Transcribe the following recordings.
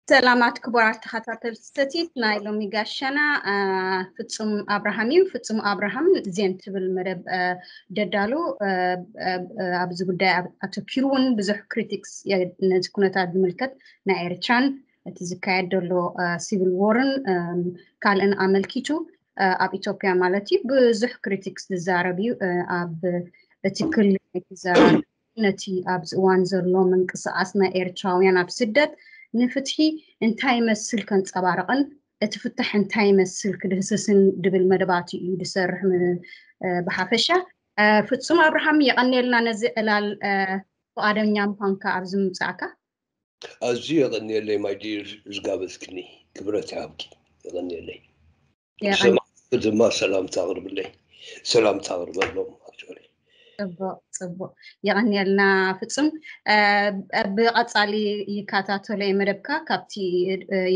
ሰላማት ክቡራት ተኸታተልቲ ሰቲት ናይ ሎሚ ጋሻና ፍጹም ኣብርሃም እዩ። ፍጹም ኣብርሃም ዜን ትብል መደብ ደዳሉ ኣብዚ ጉዳይ ኣተኪሩ እውን ብዙሕ ክሪቲክስ ነዚ ኩነታት ዝምልከት ናይ ኤርትራን እቲ ዝካየድ ዘሎ ሲቪል ዎርን ካልእን ኣመልኪቱ ኣብ ኢትዮጵያ ማለት እዩ ብዙሕ ክሪቲክስ ዝዛረብ እዩ። ኣብ እቲ ክልል ናይ ተዘራርብ ነቲ ኣብዚ እዋን ዘሎ ምንቅስቃስ ናይ ኤርትራውያን ኣብ ስደት ንፍትሒ እንታይ ይመስል ከንጸባርቕን እቲ ፍታሕ እንታይ ይመስል ክድህስስን ድብል መደባት እዩ ድሰርሕ ብሓፈሻ። ፍጹም ኣብርሃም የቐንየልና ነዚ ዕላል ፍቓደኛ ምዃንካ ኣብዚ ምምጻእካ። ኣዝዩ የቐንየለይ ማይዲር ዝጋበዝክኒ ክብረት ይሃብኪ። የቐንየለይ። ሰማዕቲ ድማ ሰላምታ ኣቕርብለይ። ሰላምታ ኣቕርበሎም። ጽቡቕ ጽቡቕ፣ የቐንየልና ፍጹም። ብቐጻሊ ይከታተሎ እየ መደብካ ካብቲ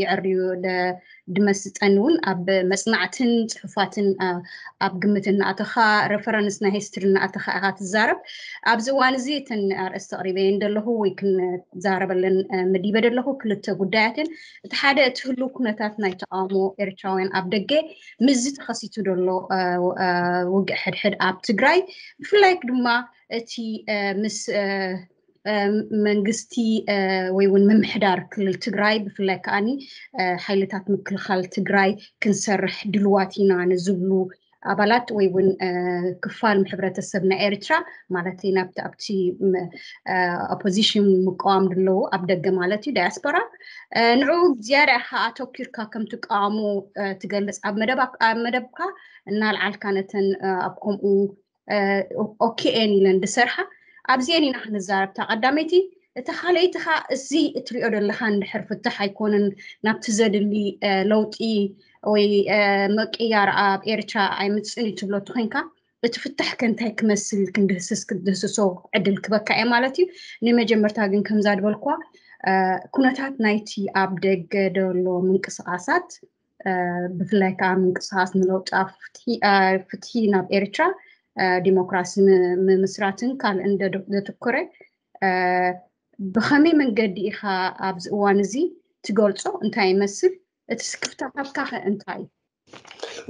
የዕርዩ ድመስጠኒ እውን ኣብ መጽናዕትን ጽሑፋትን ኣብ ግምት እናኣተኻ ረፈረንስ ናይ ሂስትሪ እናኣተኻ ኢኻ ትዛረብ። ኣብዚ እዋን እዚ እተን ኣርእስቲ ኣቕሪበየን ዘለኹ ወይ ክንዛረበለን መዲበ ዘለኹ ክልተ ጉዳያትን እቲ ሓደ እቲ ህሉ ኩነታት ናይ ተቃውሞ ኤርትራውያን ኣብ ደገ ምስዚ ተኸሲቱ ዘሎ ውግእ ሕድሕድ ኣብ ትግራይ ብፍላይ ድማ እቲ ምስ መንግስቲ ወይ እውን ምምሕዳር ክልል ትግራይ ብፍላይ ከዓኒ ሓይልታት ምክልኻል ትግራይ ክንሰርሕ ድልዋት ኢና ንዝብሉ ኣባላት ወይ እውን ክፋል ሕብረተሰብ ናይ ኤርትራ ማለት ናብቲ ኣብቲ ኦፖዚሽን ምቀዋም ድለዉ ኣብ ደገ ማለት እዩ ዳያስፖራ ንዑ ዝያዳ ኢኻ ኣተኪርካ ከም ትቃወሙ ትገልጽ ኣብ መደብካ እናልዓልካ ነተን ኣብ ከምኡ ኦኬኤን ኢለን ዝሰርሓ ኣብዚአን ኢና ክንዛረብታ ቀዳመይቲ እቲ ካልኣይቲ ኸዓ እዚ እትሪኦ ዘለኻ እንድሕር ፍትሕ ኣይኮነን ናብቲ ዘድሊ ለውጢ ወይ ምቅያር ኣብ ኤርትራ ኣይምፅእን እዩ ትብሎ ተኮይንካ እቲ ፍትሕ ከ እንታይ ክመስል ክንድህስስ ክትድህስሶ ዕድል ክበካ እየ ማለት እዩ። ንመጀመርታ ግን ከምዛ ዝበልኳ ኩነታት ናይቲ ኣብ ደገ ደሎ ምንቅስቃሳት ብፍላይ ከዓ ምንቅስቃስ ንለውጢ ፍትሒ ናብ ኤርትራ ዲሞክራሲ ምምስራትን ካልእን ዘትኩረ ብኸመይ መንገዲ ኢኻ ኣብዚ እዋን እዚ ትገልጾ እንታይ ይመስል እቲ ስክፍታታትካ ከ እንታይ እዩ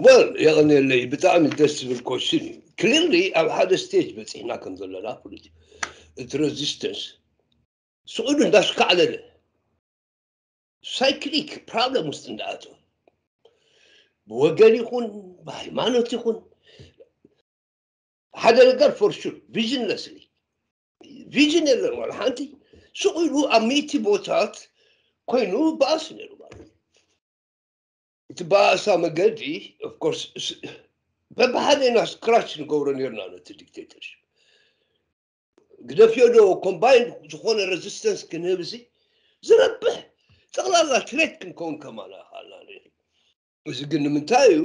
ወል የቐንየለይ ብጣዕሚ ደስ ዝብል ኮሽን እዩ ክሊርሊ ኣብ ሓደ ስቴጅ በፂሕና ከም ዘለና ፍሉጥ እዩ እቲ ሬዚስተንስ ስዑዱ እንዳስካዕለለ ሳይክሊክ ፕሮብለም ውስጥ እንዳኣተወ ብወገን ይኹን ብሃይማኖት ይኹን ሓደ ነገር for sure visionlessly vision የለን ዋላ ሓንቲ ሱቕ ኢሉ ኣብ ሚእቲ ቦታት ኮይኑ በኣስ ነይሩ ማለት እዩ እቲ በኣሳ መገዲ of course በብሓደ ኢና scratch ንገብሮ ነርና ነቲ dictatorship ግደፍዮ ዶ combined ዝኾነ resistance ክንህብ እዚ ዝረብሕ ጠቕላላ threat ክንከውን ከማና ይኽኣልና እዚ ግን ንምንታይ እዩ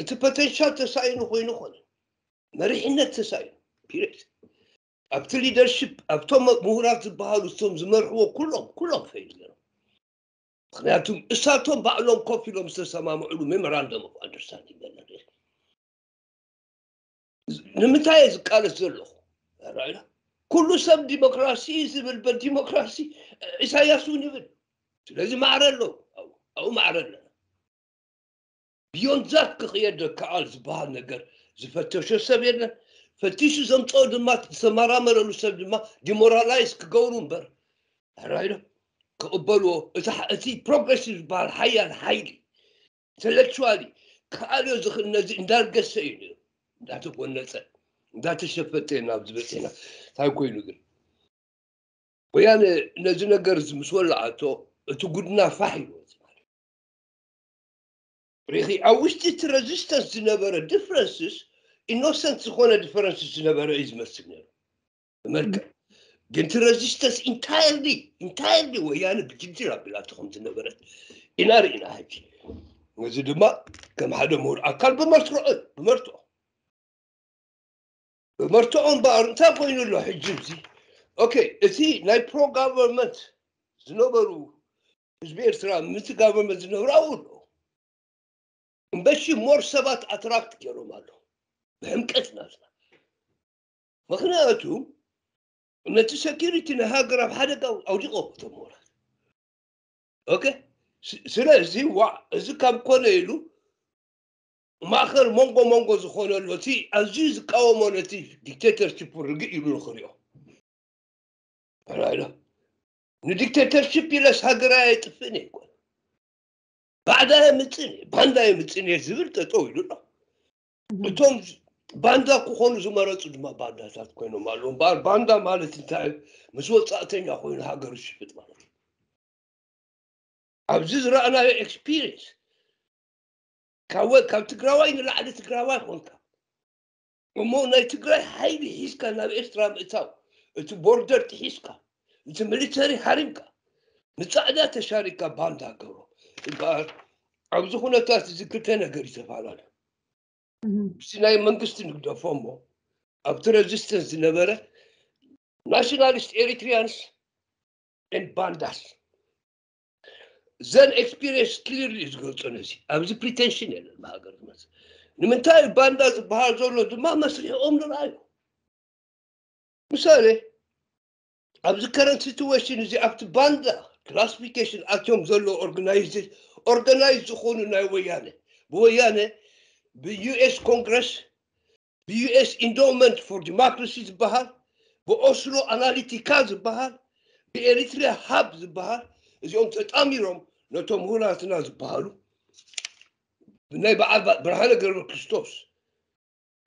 እቲ potential ተሳኢኑ ኮይኑ ኮነ መሪሕነት ተሳኢኑ period ኣብቲ leadership ኣብቶም ምሁራት ዝበሃሉ እቶም ዝመርሕዎ ኩሎም ኩሎም fail ገይሮም ምክንያቱ እሳቶም ባዕሎም ኮፍ ኢሎም ዝተሰማምዕሉ memorandum of understanding ገለ ንምንታይ እየ ዝቃለስ ዘለኹ ኩሉ ሰብ ዲሞክራሲ ዝብል በዲሞክራሲ ኢሳያስ እውን ይብል ስለዚ ማዕረ ኣለዉ ኣብኡ ማዕረ ኣለና beyond that ክኽየድ ከኣል ዝበሃል ነገር ዝፈተሾ ሰብ የለን ፈቲሹ ዘምፀኦ ድማ ዝተመራመረሉ ሰብ ድማ demoralize ክገብሩ እምበር ሕራይ ዶ ክቕበልዎ እቲ progressive ዝበሃል ሓያል ሓይሊ intellectually ክኣልዮ ዝኽእል ነዚ እንዳርገሰ እዩ ነይሩ እንዳተጎነፀ እንዳተሸፈጠ ናብ ዝበፅሕና እንታይ ኮይኑ ግን ወያነ ነዚ ነገር ምስ ወላዓቶ እቲ ጉድና ፋሕ ኢልዎ ሪኺ ኣብ ውሽጢ እቲ resistance ዝነበረ differences innocent ዝኾነ differences ዝነበረ እዩ ዝመስል ነይሩ ብመልክዕ ግን እቲ resistance entirely entirely ወያነ ብጅንጅር ኣቢላቶ ከም ዝነበረት ኢና ርኢና ሕጂ ነዚ ድማ ከም ሓደ ምሁር ኣካል ብመርትዖ ብመርትዖ ብመርትዖ እምበኣር እንታይ ኮይኑ ኣሎ ሕጂ እዚ okay እቲ ናይ pro government ዝነበሩ ህዝቢ ኤርትራ ምእንቲ government ዝነብሩ ኣብኡ ኣለዉ እምበሺ more ሰባት attract ገይሮም ኣለዉ ብሕምቀት ናትና ምኽንያቱ ነቲ security ናይ ሃገር ኣብ ሓደጋ ኣውዲቖ እቶም ምሁራት okay ስለዚ ዋ እዚ ካብ ኮነ ኢሉ ማእኸል መንጎ መንጎ ዝኾነሉ እቲ ኣዝዩ ዝቃወሞ ነቲ ዲክቴተርሽፕ ርግእ ኢሉ ንኽሪኦ ራይሎ ንዲክቴተርሽፕ ኢለስ ሃገር ኣየጥፍእን እየ ባዕዳ የምፅእን እየ ባንዳ የምፅእን እየ ዝብል ጠጠው ኢሉ ኣሎ እቶም ባንዳ ክኾኑ ዝመረፁ ድማ ባንዳታት ኮይኖም ኣለዉ እምበኣር ባንዳ ማለት እንታይ ምስ ወፃእተኛ ኮይኑ ሃገር ዝሽፍጥ ማለት እዩ ኣብዚ ዝረኣናዮ experience ካብ ትግራዋይ ንላዕሊ ትግራዋይ ኮንካ እሞ ናይ ትግራይ ሓይሊ ሒዝካ ናብ ኤርትራ ምእታው እቲ ቦርደር ጥሒስካ እቲ ሚሊተሪ ሓሪምካ ንፃዕዳ ተሻሪካ ባንዳ ገብሮ እምበኣር ኣብዚ ኩነታት እዚ ክልተ ነገር ይተፈላለ ምስቲ ናይ መንግስቲ ንግደፎ እሞ ኣብቲ resistance ዝነበረ nationalist Eritreans and ባንዳስ ዘን experience clearly ዝገልፆ ነዚ ኣብዚ pretension የለን ብሃገር ዝመፅእ ንምንታይ ባንዳ ዝበሃል ዘሎ ድማ መስሪሕኦም ንርኣዩ ምሳሌ ኣብዚ current situation እዚ ኣብቲ ባንዳ classification ኣትዮም ዘሎ organize organize ዝኾኑ ናይ ወያነ ብወያነ ብ US Congress ብ US Endowment for Democracy ዝበሃል ብ Oslo Analytica ዝበሃል ብ Eritrea Hub ዝበሃል እዚኦም ተጣሚሮም ነቶም ምሁራትና ዝበሃሉ ብናይ በዓል ብርሃነ ገብረ ክርስቶስ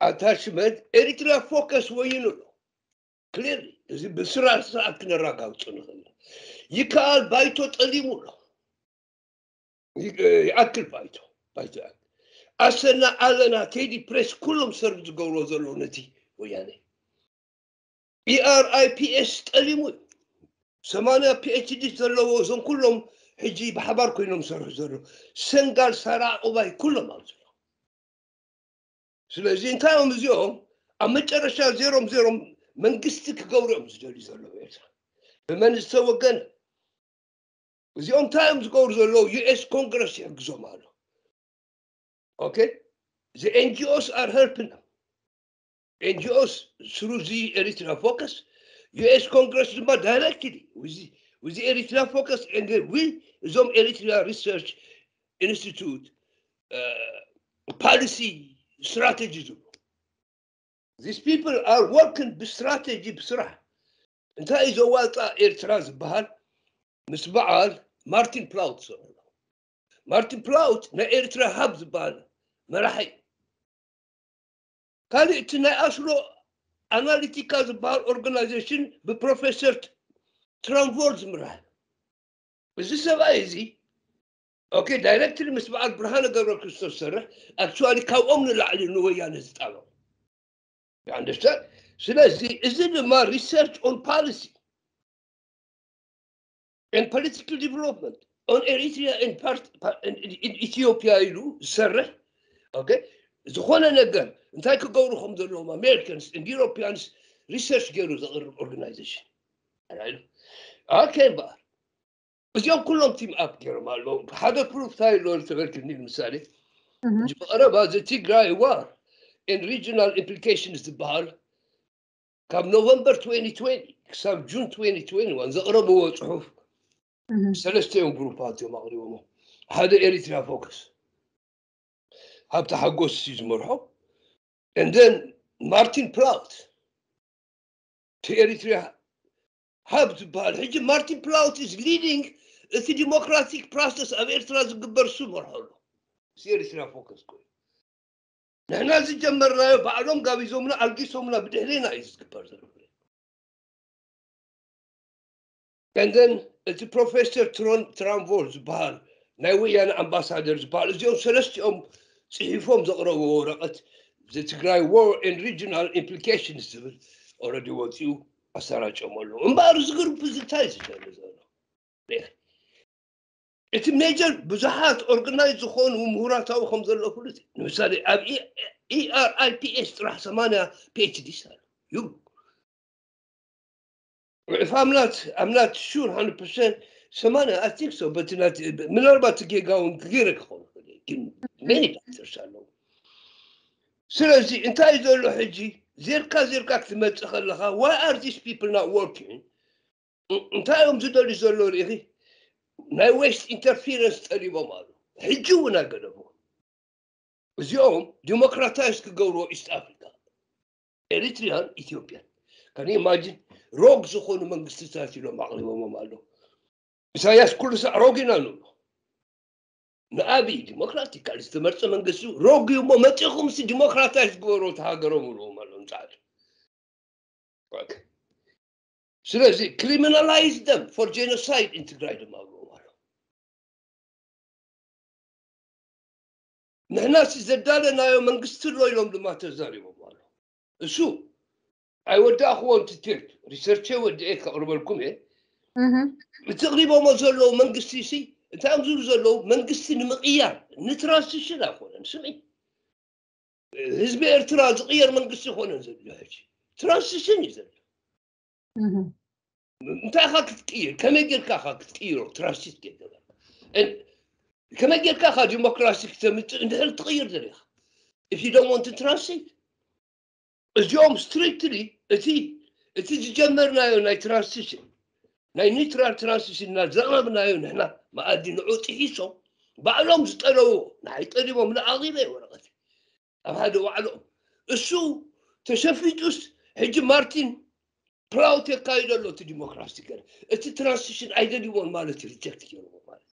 attachment Eritrea Focus ወይኑ ኣሎ clearly እዚ ብስራ ስርዓት ክነረጋግፆ ንኽእል ይከኣል ባይቶ ጠሊሙ ኣሎ ይኣክል ባይቶ ባይቶ ኣሰና ኣለና ቴዲ ፕሬስ ኩሎም ሰርቭ ዝገብርዎ ዘለዉ ነቲ ወያነ ERIPS ጠሊሙ እዩ ሰማንያ PhD ዘለዎ እዞም ኩሎም ሕጂ ብሓባር ኮይኖም ሰርሑ ዘለዉ ሰንጋል ሳራ ዑባይ ኩሎም ኣብዚ ስለዚ እንታይ እዮም እዚኦም ኣብ መጨረሻ ዜሮም ዜሮም መንግስቲ ክገብሩ እዮም ዝደልዩ ዘለዉ ኤርትራ ብመን ዝተወገነ እዚኦም እንታይ እዮም ዝገብሩ ዘለዉ US Congress ይሕግዞም ኣሎ okay the NGOs are helping them NGOs through the Eritrea Focus US Congress ድማ directly with the, with the Eritrea Focus and we እዞም Eritrea Research Institute uh, policy strategy ዝብሉ these people are working ብስትራቴጂ ብስራሕ እንታይ እዩ ዘዋፃ ኤርትራ ዝበሃል ምስ በዓል ማርቲን ፕላውት ዝሰምዑ ማርቲን ፕላውት ናይ ኤርትራ ሃብ ዝበሃል መራሒ ካልእ እቲ ናይ ኣስሎ ኣናሊቲካ ዝበሃል ኦርጋናይዜሽን ብፕሮፌሰር ትራንቮል ዝምራሕ እዚ ሰብኣይ እዚ okay directly ምስ በዓል ብርሃነ ገብረ ክርስቶስ ዝሰርሕ actually ካብኦም ንላዕሊ ንወያነ ዝጣበቕ you understand ስለዚ እዚ ድማ research on policy and political development on Eritrea and part in, in Ethiopia ኢሉ ዝሰርሕ okay ዝኾነ ነገር እንታይ ክገብሩ ከም ዘለዎም Americans and Europeans research ገይሩ ዘቕርብ organization okay እምበኣር እዚኦም ኩሎም team up ገይሮም ኣለዉ ሓደ proof እንታይ ኣሎ ተበልክኒ ንምሳሌ ብቐረባ the Tigray war and regional implications ዝበሃል ካብ November twenty twenty ክሳብ June twenty twenty-one ዘቕረብዎ ፅሑፍ ሰለስተ እዮም ግሩፓት እዮም ኣቕሪቦሞ ሓደ Eritrea Focus ሃብተ ሓጎስ እዩ ዝመርሖ and then Martin Plaut to Eritrea Hub ዝበሃል ሕጂ Martin Plaut is leading እቲ democratic process ኣብ ኤርትራ ዝግበር እሱ መርሖ ኣሎ Eritrea Focus ኮይኑ ንሕና ዝጀመርናዮ ባዕሎም ጋቢዞምና ኣልጊሶምና ብድሕሬና እዩ ዝግበር ዘሎ and then እቲ ፕሮፌሰር ትራንቮል ዝበሃል ናይ ወያነ ኣምባሳደር ዝበሃል እዚኦም ሰለስቲኦም ፅሒፎም ዘቕረብዎ ወረቐት the Tigray war and regional implications ዝብል already ወፂኡ ኣሰራጨሞ ኣለዉ እምበኣር እዚ ግሩፕ እዚ እንታይ ዝደሊ ዘሎ እቲ ሜጀር ብዙሓት ኦርጋናይዝ ዝኾኑ ምሁራታዊ ከም ዘሎ ፍሉጥ እዩ ንምሳሌ ኣብ ERIPS ጥራሕ ሰማንያ PhDs ኣሎ እዩ if I'm not I'm not sure hundred percent ሰማንያ I think so but not ምናልባት ጌጋ እውን ክገይረ ክኸውን ግን many doctors ኣለዉ ስለዚ እንታይ ዘሎ ሕጂ ዜርካ ዜርካ ክትመፅእ ከለካ why are these people not working እንታይ እዮም ዝደልዩ ዘሎ ርኢኺ ናይ ዌስት ኢንተርፌረንስ ጠሊቦም ኣሉ። ሕጂ እውን ኣይገደፉ። እዚኦም ዲሞክራታይዝ ክገብርዎ ኢስት ኣፍሪካ፣ ኤሪትሪያን ኢትዮጵያን። ከን ኢማጂን ሮግ ዝኾኑ መንግስትታት ኢሎም ኣቕሪቦሞም ኣለዉ። ኢሳያስ ኩሉ ሳዕ ሮግ ኢና ንብሎ። ንኣብይ ዲሞክራቲካል ዝተመርፀ መንግስቲ ሮግ እዩ እሞ መፂኹም ሲ ዲሞክራታይዝ ግበሩ እቲ ሃገሮም ብልዎም ኣለዉ ንፃዕዱ። ስለዚ criminalize them for genocide in ትግራይ ድማ ብልዎም ኣለዉ። ንሕና ሲ ዘዳለናዮ መንግስቲ ኣሎ ኢሎም ድማ ተዛሪቦም ኣሎ። እሱ ኣይወዳእክዎን ትትርት ሪሰርቸ ወዲኤ ከቕርበልኩም እየ። እቲ ቅሪቦሞ ዘለዉ መንግስቲ ሲ እንታይ እዮም ዝብሉ ዘለዉ መንግስቲ ንምቕያር ንትራንስሽን ኣይኮነን። ስምዒ ህዝቢ ኤርትራ ዝቕየር መንግስቲ ይኮነን ዘሎ ሕጂ ትራንስሽን እዩ ዘሎ። እንታይ ኢኻ ክትቅይር ከመይ ጌርካ ኢኻ ክትቅይሮ ትራንሲት ጌርገበር ከመይ ጌርካ ኢኻ ዲሞክራሲ ክተምፅእ እንድሕር ትቕይር ደሊኻ if you don't want to transit እዚኦም ስትሪክትሊ እቲ እቲ ዝጀመርናዮ ናይ ትራንስሽን ናይ ኒውትራል ትራንስሽን እና ዘቕረብናዮ ንሕና መኣዲ ንዑ ጥሒሶም ባዕሎም ዝጠለዎ ንዓይ ጠሊቦም ንኣቕሪበ ወረቐት ኣብ ሓደ ዋዕሎም እሱ ተሸፊጡስ ሕጂ ማርቲን ፕራውት የካይዶ ኣሎ እቲ ዲሞክራሲ ገለ እቲ ትራንስሽን ኣይደልይዎን ማለት ሪጀክት ገይርዎ ማለት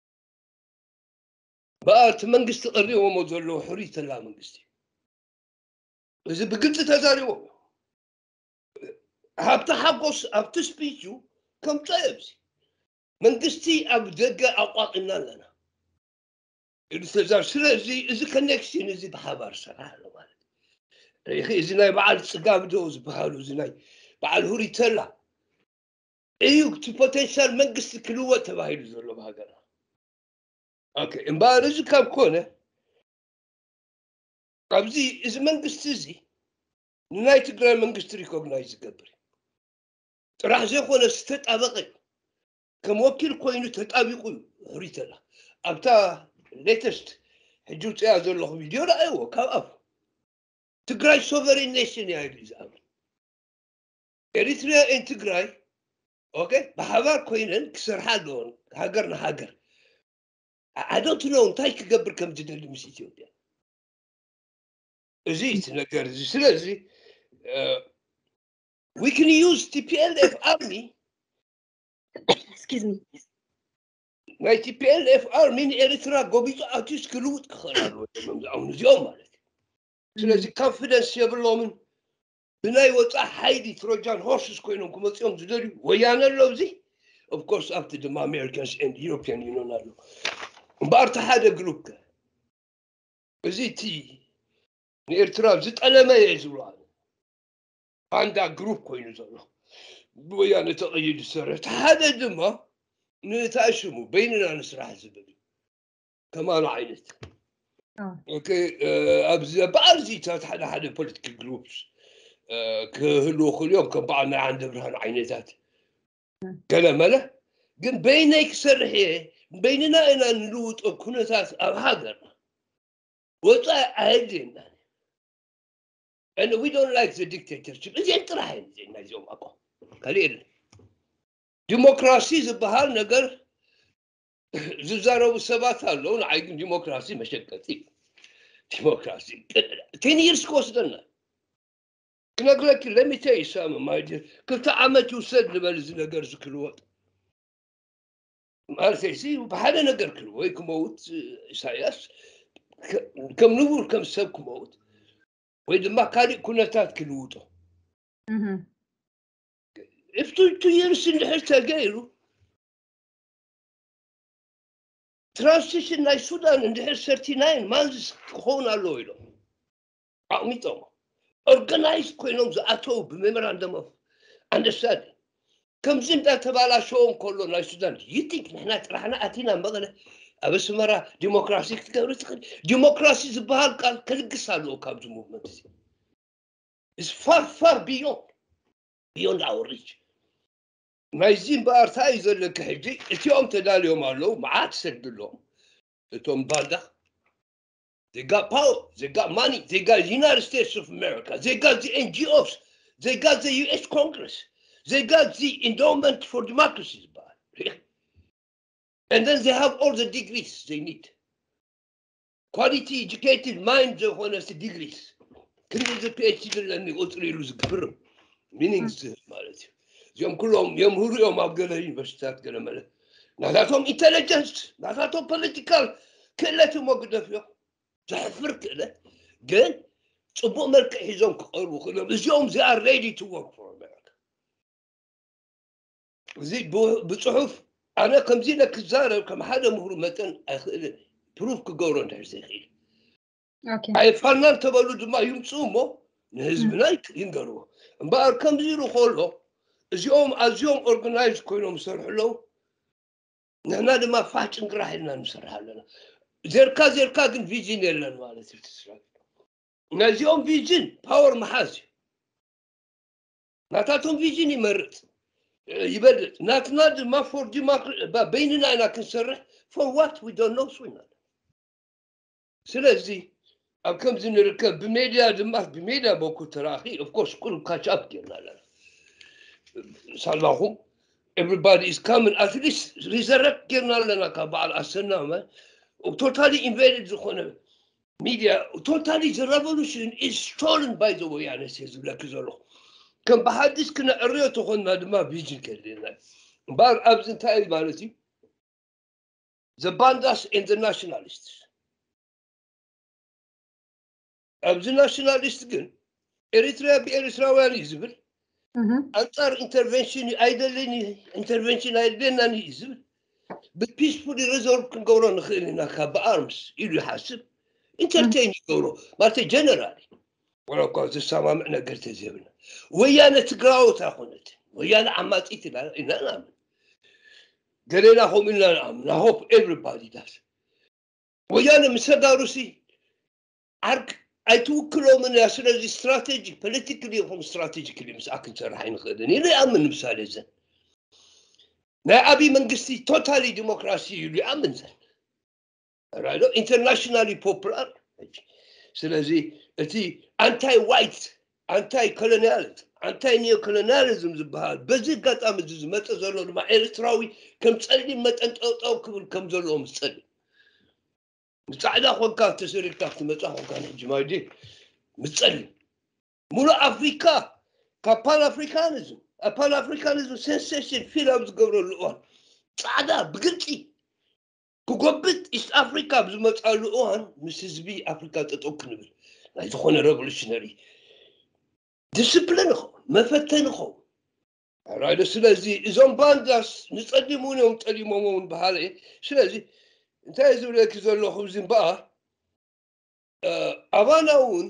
በኣ እቲ መንግስቲ ቀሪቦሞ ዘለዎ ሕሩይ ተላ መንግስቲ እዚ ብግልፂ ተዛሪቦም ሃብቲ ሓጎስ ኣብቲ ስፒቹ ከምፀ ኣብዚ መንግስቲ ኣብ ደገ ኣቋቂምና ኣለና ኢሉ ተዛር ስለዚ እዚ ኮኔክሽን እዚ ብሓባር ሰራሕ ኣሎ ማለት እዩ እዚ ናይ በዓል ፅጋብ ዶ ዝበሃሉ እዚ ናይ በዓል ሁሪተላ እዩ እቲ ፖቴንሻል መንግስቲ ክልወጥ ተባሂሉ ዘሎ ብሃገርና እምበኣር እዚ ካብ ኮነ ኣብዚ እዚ መንግስቲ እዚ ንናይ ትግራይ መንግስቲ ሪኮግናይዝ ዝገብር እዩ ጥራሕ ዘይኮነ ዝተጣበቀ እዩ ከም ወኪል ኮይኑ ተጣቢቁ እዩ ሕሪተላ ኣብታ ሌተስት ሕጂ ውፅያ ዘለኹ ቪድዮ ረኣይዎ ካብ ኣፉ ትግራይ ሶቨሪን ኔሽን እያ ኢሉ ዝኣምን ኤሪትሪያ ን ትግራይ ኦኬ ብሓባር ኮይነን ክሰርሓ ኣለዎን ሃገር ንሃገር ኣዶንት ኖ እንታይ ክገብር ከም ዝደሊ ምስ ኢትዮጵያ እዚ እቲ ነገር እዚ ስለዚ we can use T P L F army Excuse me. ናይ T P L F army ንኤርትራ ጎቢጡ ኣትዩስ ክልውጥ ክኽእል ኣለዎ እዚኦም ማለት እዩ ስለዚ ኮንፊደንስ የብሎምን ብናይ ወፃእ ሓይሊ ትሮጃን ሆርስስ ኮይኖም ክመፅኦም ዝደልዩ ወያነ ኣሎ እዚ of course ኣብቲ ድማ Americans and European Union ኣሎ እምበኣር እቲ ሓደ ግሩፕ ከ እዚ እቲ ንኤርትራ ዝጠለመ እየ ዝብሎ ኣነ ባንዳ ግሩፕ ኮይኑ ዘሎ ብወያነ ተቐይዱ ዝሰርሕ እቲ ሓደ ድማ ንእታ ሽሙ በይንና ንስራሕ ዝብል እዩ ከማኑ ዓይነት ኣብዚ በዓል ዚታት ሓደ ሓደ ፖለቲካል ግሩፕስ ክህልዉ ክልዮም ከም በዓል ናይ ዓንደ ብርሃን ዓይነታት ገለ መለ ግን በይነይ ክሰርሕ እየ በይንና ኢና ንልውጦ ኩነታት ኣብ ሃገርና ወፃኢ ኣየድልየና and we don't like the dictatorship እዚአን ጥራሕ እየን እዚአን ናይዚኦም ኣቋም ካልእ የለን ዲሞክራሲ ዝበሃል ነገር ዝዛረቡ ሰባት ኣለዉ ንዓይ ግን ዲሞክራሲ መሸቀጢ ዲሞክራሲ ten years ክወስደና ክነግረኪ let me tell you something my dear ክልተ ዓመት ይውሰድ ንበል እዚ ነገር እዚ ክልወጥ ማለተይሲ ብሓደ ነገር ክል ወይ ክመውት ኢሳያስ ከም ንቡር ከም ሰብ ክመውት ወይ ድማ ካሊእ ኩነታት ክልውጦ if two years እንድሕር ተገይሩ ትራንስሽን ናይ ሱዳን እንድሕር thirty nine months ክኸውን ኣለዎ ኢሎም ኣቕሚጦም organized ኮይኖም ዝኣተው ብ memorandum of understanding ከምዚ እንዳተባላሸዎ እንከሎ ናይ ሱዳን you think ንሕና ጥራሕና ኣቲና መቐለ ኣብ ኣስመራ ዲሞክራሲ ክትገብሪ ትኽእል ዲሞክራሲ ዝበሃል ቃል ከልግስ ኣለዎ ካብዚ movement እዚ is far far beyond beyond our reach ናይዚ እምበኣር እንታይ እዩ ዘለኪ ሕጂ እቲኦም ተዳልዮም ኣለዉ መዓት ሰድሎም እቶም ባንዳ they got power they got money they got United States of America they got the N G Os they got the U S Congress they got the endowment for democracy ዝበሃል And then they have all the degrees they need. Quality educated mind ዝኾነ ሲ degrees ክንዲ እዚ PhD ኣለኒ ቁፅሪ ኢሉ ዝግብርም meanings ማለት እዩ። እዚኦም ኩሎም የምህሩ እዮም ኣብ ገለ ዩኒቨርሲቲታት ገለ መለ ናታቶም intelligence ናታቶም political ክእለት እሞ ግደፍ እዮም። ዘሕፍር ክእለት ግን ፅቡቅ መልክዕ ሒዞም ክቀርቡ ክእሎም እዚኦም they are ready to work for America። እዚ ብፅሑፍ ኣነ ከምዚ ኢለ ክዛረብ ከም ሓደ ምሁር መጠን ኣይክእልን። ፕሩፍ ክገብሮ እንድሕር ዘይክእል ኣይፋልናን ተበሉ ድማ ይምፅኡ እሞ ንህዝብና ይንገርዎ። እምበኣር ከምዚ ኢሉ ከሎ እዚኦም ኣዝዮም organized ኮይኖም ዝሰርሑ ኣለዉ። ንሕና ድማ ፋሕ ጭንቅራሕ ኢልና ንሰርሕ ኣለና። ዘርካ ዘርካ ግን ቪዥን የለን ማለት እዩ። ትስራ ናዚኦም ቪዥን ፓወር መሓዝ እዩ። ናታቶም ቪዥን ይመርፅ ይበልፅ። ናትና ድማ for democracy በይንና ኢና ክንሰርሕ for what we don't know። ስዊና ስለዚ ኣብ ከምዚ ንርከብ ብሜድያ ድማ ብሜድያ በኩል ተራኺ of course ኩሉ catch up ጌርና ኣለና። ሳላኹም everybody is coming at least resurrect ጌርና ኣለና ካብ በዓል ኣሰና totally invaded ዝኾነ media totally the revolution is stolen by the ወያነ ዝብለኪ ዘለኹ ከም ብሓዲስ ክነዕርዮ ተኾንና ድማ ቪዥን ከድልየና እምበኣር ኣብዚ እንታይ ማለት እዩ the bandas and the nationalists ኣብዚ ናሽናሊስት ግን ኤሪትሪያ ብኤሪትራውያን እዩ ዝብል ኣንፃር intervention ኣይደልን intervention ኣይደልየናን እዩ ዝብል ብpeacefully resolve ክንገብሮ ንኽእል ኢና ካብ ብኣርምስ ኢሉ ይሓስብ። Entertain ይገብሮ ማለት ጀነራል ወላ እኳ ዝሰማምዕ ነገር ተዘይብልና ወያነ ትግራወት ኣይኮነትን። ወያነ ዓማፂት ኢና ኢና ንኣምን ገሌና ከምኡ ኢልና ንኣምን። I hope everybody does። ወያነ ምስ ተጋሩሲ ዓርክ ኣይትውክሎምን እያ። ስለዚ strategy politically ይኹን strategically ምስኣ ክንሰርሕ ኣይንኽእልን ኢሉ ይኣምን። ንምሳሌ ዘን ናይ ኣብይ መንግስቲ totally ዲሞክራሲ እዩ ኢሉ ይኣምን ዘን right internationally popular። ስለዚ እቲ anti white anti colonialism anti neo colonialism ዝበሃል በዚ ኣጋጣሚ እዚ ዝመፀ ዘሎ ድማ ኤርትራዊ ከም ፀሊም መጠን ጠውጠው ክብል ከም ዘለዎ ምስ ፀሊም ምስ ፃዕዳ ኮንካ ተሰሪርካ ክትመፃ ኮንካ ንሕጂ ማይዲ ምስ ፀሊም ሙሉእ ኣፍሪካ ካብ pan africanism ኣብ pan africanism sensation feel ኣብ ዝገብረሉ እዋን ፃዕዳ ብግልፂ ክጎብጥ ኢስት ኣፍሪካ ኣብ ዝመፃሉ እዋን ምስ ህዝቢ ኣፍሪካ ጠጠው ክንብል ናይ ዝኾነ revolutionary discipline ይኸውን መፈተኒ ይኸውን። ራይዶ ስለዚ እዞም ባንዳስ ንፀሊም እውን እዮም ጠሊሞም እውን በሃለ እየ። ስለዚ እንታይ ዝብለኪ ዘለኹ እዚ እምበኣር ኣባና እውን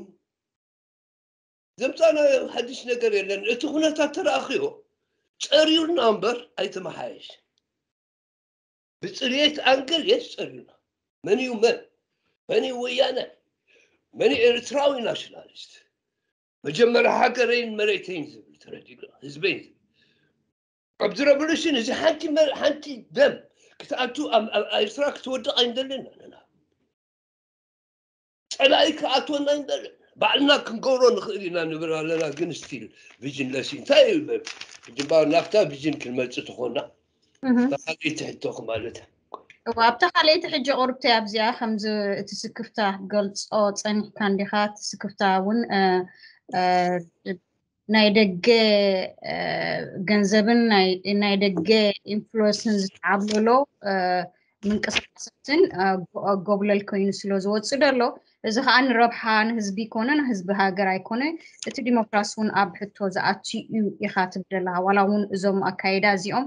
ዘምፃናዮ ሓድሽ ነገር የለን። እቲ ኩነታት ተረኣኽዮ ፀሪዩና እምበር ኣይተመሓየሽ ብፅርየት ኣንግል የስ ፀሪዩና መን እዩ መን መን እዩ ወያነ መን እዩ ኤርትራዊ ናሽናሊስት መጀመርያ ሃገረይን መሬተይን ዝብል ተረዲኡ ህዝበይን ዝብል ኣብዚ revolution እዚ ሓንቲ ሓንቲ ደም ክትኣቱ ኣብ ኤርትራ ክትወድቕ ኣይንደልን ኣለና ፀላኢ ክኣትወና ኣይንደልን ባዕልና ክንገብሮ ንኽእል ኢና ንብል ኣለና ግን still visionless እንታይ እዩ ግንባር ናብታ vision ክንመፅእ ተኾና ተኻሊእ ትሕቶ ክማለት እዋ ኣብታ ካልኣይቲ ሕጂ ቁርብቲ ኣብዚኣ ከምዚ እቲ ስክፍታ ክትገልፆ ፀኒሕካ እንዲኻ እቲ ስክፍታ እውን ናይ ደገ ገንዘብን ናይ ደገ ኢንፍሉንስን ዝተዓብለሎ ምንቅስቃሳትን ጎብለል ኮይኑ ስለ ዝወፅእ ደሎ እዚ ከዓ ንረብሓ ንህዝቢ ይኮነ ንህዝቢ ሃገር ኣይኮነ እቲ ዲሞክራሲ እውን ኣብ ሕቶ ዝኣቲ እዩ ኢካ ትብል ኣለካ ዋላ እውን እዞም ኣካይዳ እዚኦም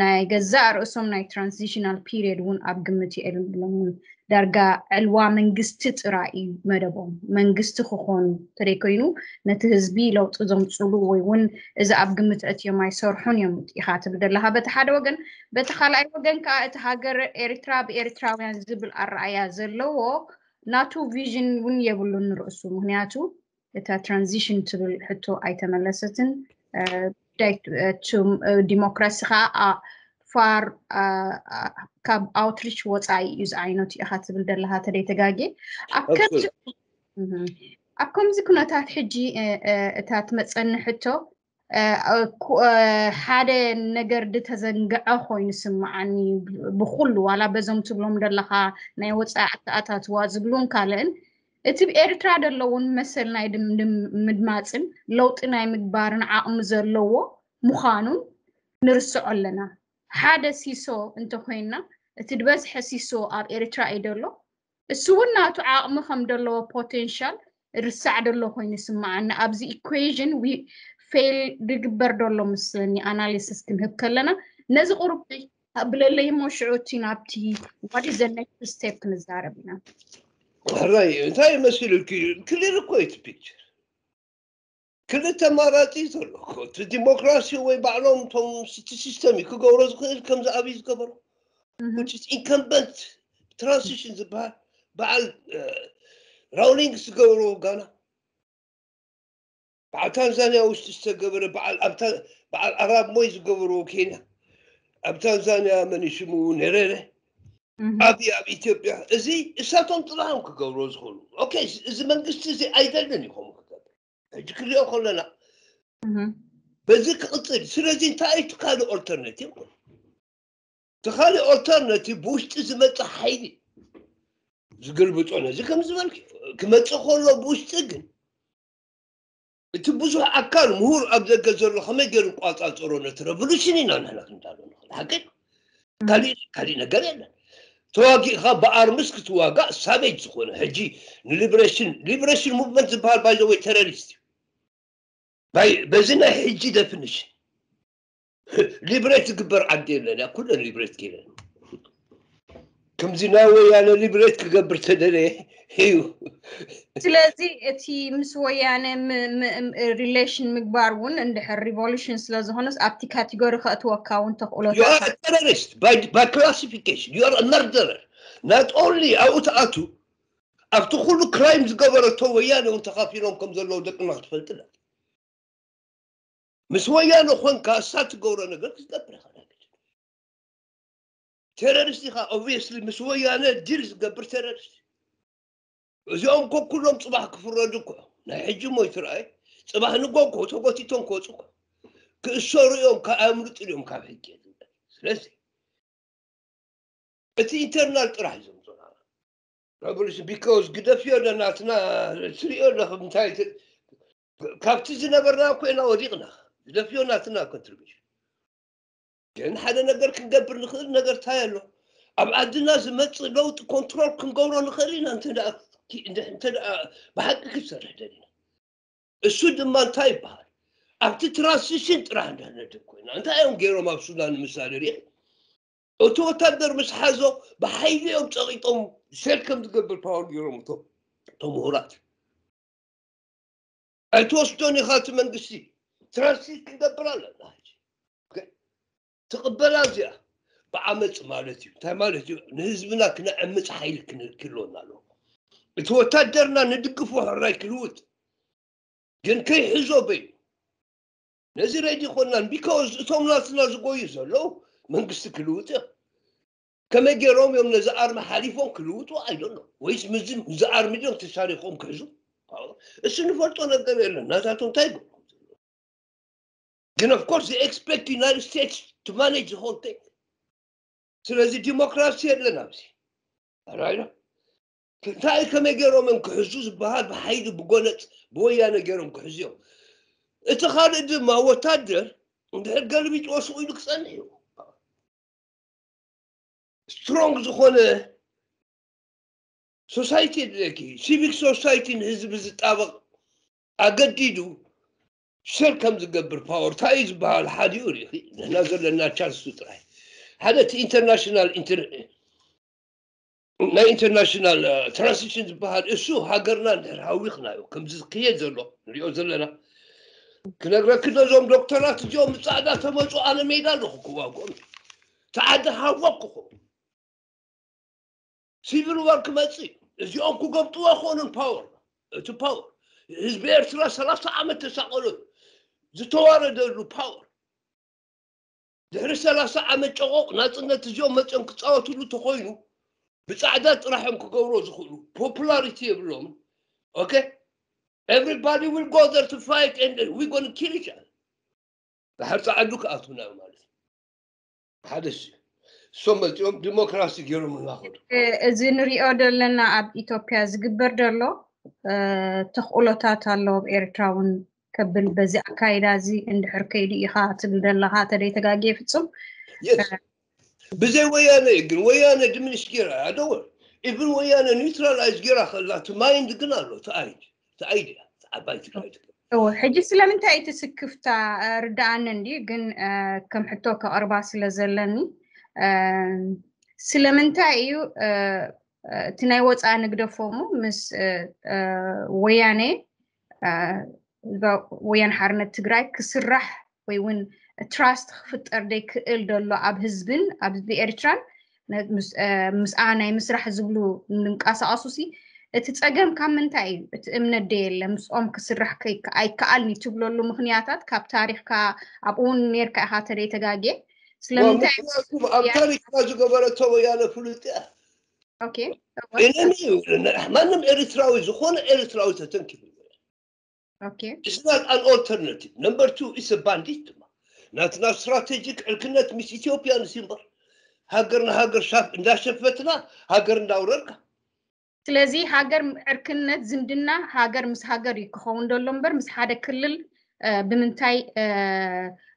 ናይ ገዛእ ርእሶም ናይ transitional period እውን ኣብ ግምት የእልምሎም እውን ዳርጋ ዕልዋ መንግስቲ ጥራይ እዩ መደቦም መንግስቲ ክኾኑ ተደይኮይኑ ነቲ ህዝቢ ለውጢ ዘምፅሉ ወይ እውን እዚ ኣብ ግምት ኣእትዮም ኣይሰርሑን እዮም ኢካ ትብል ዘለካ በቲ ሓደ ወገን በቲ ካልኣይ ወገን ከዓ እቲ ሃገር ኤርትራ ብኤርትራውያን ዝብል ኣረኣያ ዘለዎ ናቱ vision እውን የብሉን ንርእሱ ምክንያቱ እታ transition ትብል ሕቶ ኣይተመለሰትን ጉዳይ ዲሞክራሲ ከዓ far ካብ outreach ወፃኢ እዩ ዝዓይነቱ ኢኻ ትብል ዘለኻ ተደይ ተጋጌ ኣብ ከምዚ ኣብ ከምዚ ኩነታት ሕጂ እታ ትመፀኒ ሕቶ ሓደ ነገር ዝተዘንግዐ ኮይኑ ስምዓኒ። ብኩሉ ዋላ በዞም ትብሎም ዘለካ ናይ ወፃኢ ኣተኣታትዋ ዝብሉን ካልእን፣ እቲ ብኤርትራ ዘለውን መሰል ናይ ድምድም ምድማፅን ለውጢ ናይ ምግባርን ዓቕሚ ዘለዎ ምዃኑን ንርስዖ ኣለና። ሓደ ሲሶ እንተኮይንና፣ እቲ ዝበዝሐ ሲሶ ኣብ ኤርትራ እዩ ዘሎ። እሱ እውን ናቱ ዓቕሚ ከም ዘለዎ ፖቴንሻል ርሳዕ ደሎ ኮይኑ ይስምዓኒ። ኣብዚ ኢኩዌዥን ፌል ድግበር ደሎ ምስለኒ ኣናሊሲስ ክንህብ ከለና፣ ነዚ ቁሩብ ኣብለለይ እሞ ሽዑ እቲ ናብቲ what is the next step ክንዛረብ ኢና። ሕራይ እንታይ መሲሉ ክሊር እኮ እዩ እቲ ፒክቸር። ክልተ ኣማራፂ ዘሎ እኮ፣ እቲ ዲሞክራሲ ወይ ባዕሎም እቶም እቲ ሲስተም እዩ ክገብሮ ዝኽእል። ከምዚ ኣብይ ዝገበሮ which is incumbent transition ዝበሃል በዓል ራውሊንግስ ዝገበሮ ጋና፣ በዓል ታንዛንያ ውሽጢ ዝተገበረ፣ በዓል ኣራብ ሞይ ዝገበርዎ ኬንያ፣ ኣብ ታንዛንያ መን ሽሙ ኔሬሬ፣ ኣብይ ኣብ ኢትዮጵያ፣ እዚ እሳቶም ጥራሕም ክገብርዎ ዝኽእሉ። ኦኬ፣ እዚ መንግስቲ እዚ ኣይደልን እዩ ከምኡ ክገብር። ሕጂ ክሪኦ ከለና በዚ ክቕፅል። ስለዚ እንታይ እዩ እቲ ካልእ ኦልተርናቲቭ? እቲ ካልእ ኦልተርናቲቭ ብውሽጢ ዝመፅእ ሓይሊ ዝግልብጦ። ነዚ ከም ዝበልክ ክመፅእ ከሎ ብውሽጢ ግን እቲ ብዙሕ ኣካል ምሁር ኣብ ደገ ዘሎ ከመይ ገይሩ ቋፃፀሮ ነቲ ሬቮሉሽን ኢና ንሕና ክንዳሎ ንኽእል። ሓቂ ካሊእ ካሊእ ነገር የለን። ተዋጊእካ ብኣርምስ ክትዋጋእ ሳቬጅ ዝኾነ ሕጂ ንሊብሬሽን ሊብሬሽን ሙቭመንት ዝበሃል ባይዘወይ ቴሮሪስት እዩ። በዚ ናይ ሕጂ ደፊኒሽን ሊብሬት ዝግበር ዓዲ የለን። ያ ኩለን ሊብሬት ገይረን ከምዚ ናይ ወያነ ሊብሬት ክገብር ተደለየ እዩ። ስለዚ እቲ ምስ ወያነ ሪሌሽን ምግባር እውን እንድሕር ሪቮሉሽን ስለዝኾነስ ኣብቲ ካቴጎሪ ከእትወካ እውን ተኽእሎታት ቴሮሪስት ባይ ክላሲፊኬሽን ዩ ኣር መርደረር ናት ኦንሊ ኣብኡ ተኣቱ ኣብቲ ኩሉ ክራይም ዝገበረቶ ወያነ እውን ተኻፊሎም ከም ዘለዉ ደቅና ክትፈልጥና ምስ ወያነ ኮንካ እሳ ትገብሮ ነገር ክትገብር ኢኻ። ቴሮሪስት ኢኻ ኦብቪየስሊ ምስ ወያነ ዲል ዝገብር ቴሮሪስት። እዚኦም ኮ ኩሎም ፅባሕ ክፍረዱ እኮ ናይ ሕጂ ሞ ይትረኣይ። ፅባሕ ንጎ እኮ ተጎቲቶም ክወፁ እኮ ክእሰሩ እዮም። ኣምልጡ እዮም ካብ ሕጂ። ስለዚ እቲ ኢንተርናል ጥራሕ እዩ ዘምፅኡና ሬቮሉሽን ቢካውስ ግደፍዮ ዶ ናትና ትሪኦ ኣለኹም እንታይ ካብቲ ዝነበርና እኮ ኢና ወዲቕና። ግደፍዮ ናትና ኮንትሪቢሽን ግን ሓደ ነገር ክንገብር ንኽእል ነገር እንታይ ኣሎ? ኣብ ዓድና ዝመፅእ ለውጢ ኮንትሮል ክንገብሮ ንኽእል ኢና እንተ ብሓቂ ክንሰርሕ ደሊና። እሱ ድማ እንታይ ይበሃል? ኣብቲ ትራንስሽን ጥራሕ እንዳነድብ ኮይና እንታይ እዮም ገይሮም ኣብ ሱዳን ንምሳሌ ሪኢ እቲ ወታደር ምስ ሓዞ ብሓይሊ እዮም ፀቂጦም ሸል ከም ዝገብር ፓወር ገይሮም እቶም እቶም ምሁራት ኣይትወስዶን ኢኻ እቲ መንግስቲ ትራንስሌት ክንገብር ኣለና ትቕበላ እዚኣ ብዓመፅ ማለት እዩ እንታይ ማለት እዩ ንህዝብና ክነዕምፅ ሓይሊ ክህልወና ኣለዎ እቲ ወታደርና ንድግፎ ሕራይ ክልውጥ ግን ከይሕዞ በይ ነዚ ሬዲ ኮናን ቢካውዝ እቶም ናትና ዝጎዩ ዘለዉ መንግስቲ ክልውጥ እዮም ከመይ ገይሮም እዮም ነዚ ኣርሚ ሓሊፎም ክልውጡ ኣይደሎ ወይስ ምዚ ኣርሚ ድዮም ተሻሪኮም ክሕዙ እሱ ንፈልጦ ነገር የለን ናታቶም እንታይ ይገብሩ ግን of course they expect United States to manage the whole thing ስለዚ ዲሞክራሲ የለን ኣብዚ ኣራይና እንታይ ከመይ ገይሮም እዮም ክሕዙ ዝበሃል ብሓይሊ ብጎነፅ ብወያነ ገይሮም ክሕዙ እዮም እቲ ካልእ ድማ ወታደር እንድሕር ገልቢጥዎ ስቕ ኢሉ ክፀንሕ እዩ ስትሮንግ ዝኾነ ሶሳይቲ የድልየኪ ሲቪክ ሶሳይቲ ንህዝቢ ዝጣበቕ ኣገዲዱ ሸር ከም ዝገብር ፓወር እንታይ እዩ ዝበሃል ሓዲኡ ሪኢኺ ንሕና ዘለና ቻንስ ጥራይ ሓደ እቲ ኢንተርናሽናል ናይ ኢንተርናሽናል ትራንስሽን ዝበሃል እሱ ሃገርና እንድሕር ሃዊኽናዮ ከምዚ ዝክየድ ዘሎ ንሪኦ ዘለና ክነግረኪ ነዞም ዶክተራት እዚኦም ምፃዕዳ ተመፁ ኣነ ሜዳ ኣለኹ ክዋግኦም ተዓዲ ሃወኩኹ ሲቪል ዋር ክመፅእ እዚኦም ክገብጥዎ ክኾኑን ፓወር እቲ ፓወር ህዝቢ ኤርትራ ሰላሳ ዓመት ተሳቀሉ ዝተዋረደሉ ፓወር ድሕሪ ሰላሳ ዓመት ጨቆቕ ናፅነት እዚኦም መፅኦም ክፃወትሉ ተኮይኑ ብፃዕዳ ጥራሕም ክገብሮ ዝኽእሉ ፖፑላሪቲ የብሎም okay everybody will go there to fight and we gonna kill each other ድሓር ፃዓዱ ክኣትውና እዩ ማለት እዩ። ሓደ እሱ እሶም መፂኦም ዲሞክራሲ ገይሮም እናኸዱ እዚ ንሪኦ ዘለና ኣብ ኢትዮጵያ ዝግበር ዘሎ ተኽእሎታት ኣሎ ኣብ ኤርትራ እውን ከብል በዚ ኣካይዳ እዚ እንድሕር ከይዱ ኢኻ ትብል ዘለኻ ተደይ ተጋጌ ፍጹም ብዘይ ወያነ ግን ወያነ ድምንሽ ገይራ ኣደወ ኢብን ወያነ ኒውትራላይዝ ገይራ ከላ እቲ ማይንድ ግን ኣሎ ተኣይድ ተኣይድ ዓባይ ትግራይ ሕጂ ስለምንታይ እቲ ስክፍታ ርዳኣኒ እንዲ ግን ከም ሕቶ ከቕርባ ስለ ዘለኒ ስለምንታይ እዩ እቲ ናይ ወፃኢ ንግደፎሙ ምስ ወያነ ወያን ሓርነት ትግራይ ክስራሕ ወይ እውን ትራስት ክፍጠር ደይክእል ዘሎ ኣብ ህዝብን ኣብ ህዝቢ ኤርትራን ምስኣ ናይ ምስራሕ ዝብሉ ንንቀሳቀሱ ሲ እቲ ፀገም ካብ ምንታይ እዩ እቲ እምነት ደ የለ ምስኦም ክስራሕ ኣይከኣልኒ ትብለሉ ምክንያታት ካብ ታሪክካ ኣብኡ እውን ነርካ ኢካ ተደይ ተጋጌ ስለምንታይ ኣብ ታሪክና ዝገበረቶ ወያነ ፍሉጥ እያ እነኒ ማንም ኤርትራዊ ዝኾነ ኤርትራዊ ተተንኪቡ It's not an alternative. Number two, it's a bandit. ናትና ስትራቴጂክ ዕርክነት ምስ ኢትዮጵያ ንሲ እምበር ሃገር ንሃገር ሻፍ እንዳሸፈትና ሃገር እንዳውረርካ ስለዚ ሃገር ዕርክነት ዝምድና ሃገር ምስ ሃገር እዩ ክኸውን ዘሎ እምበር ምስ ሓደ ክልል ብምንታይ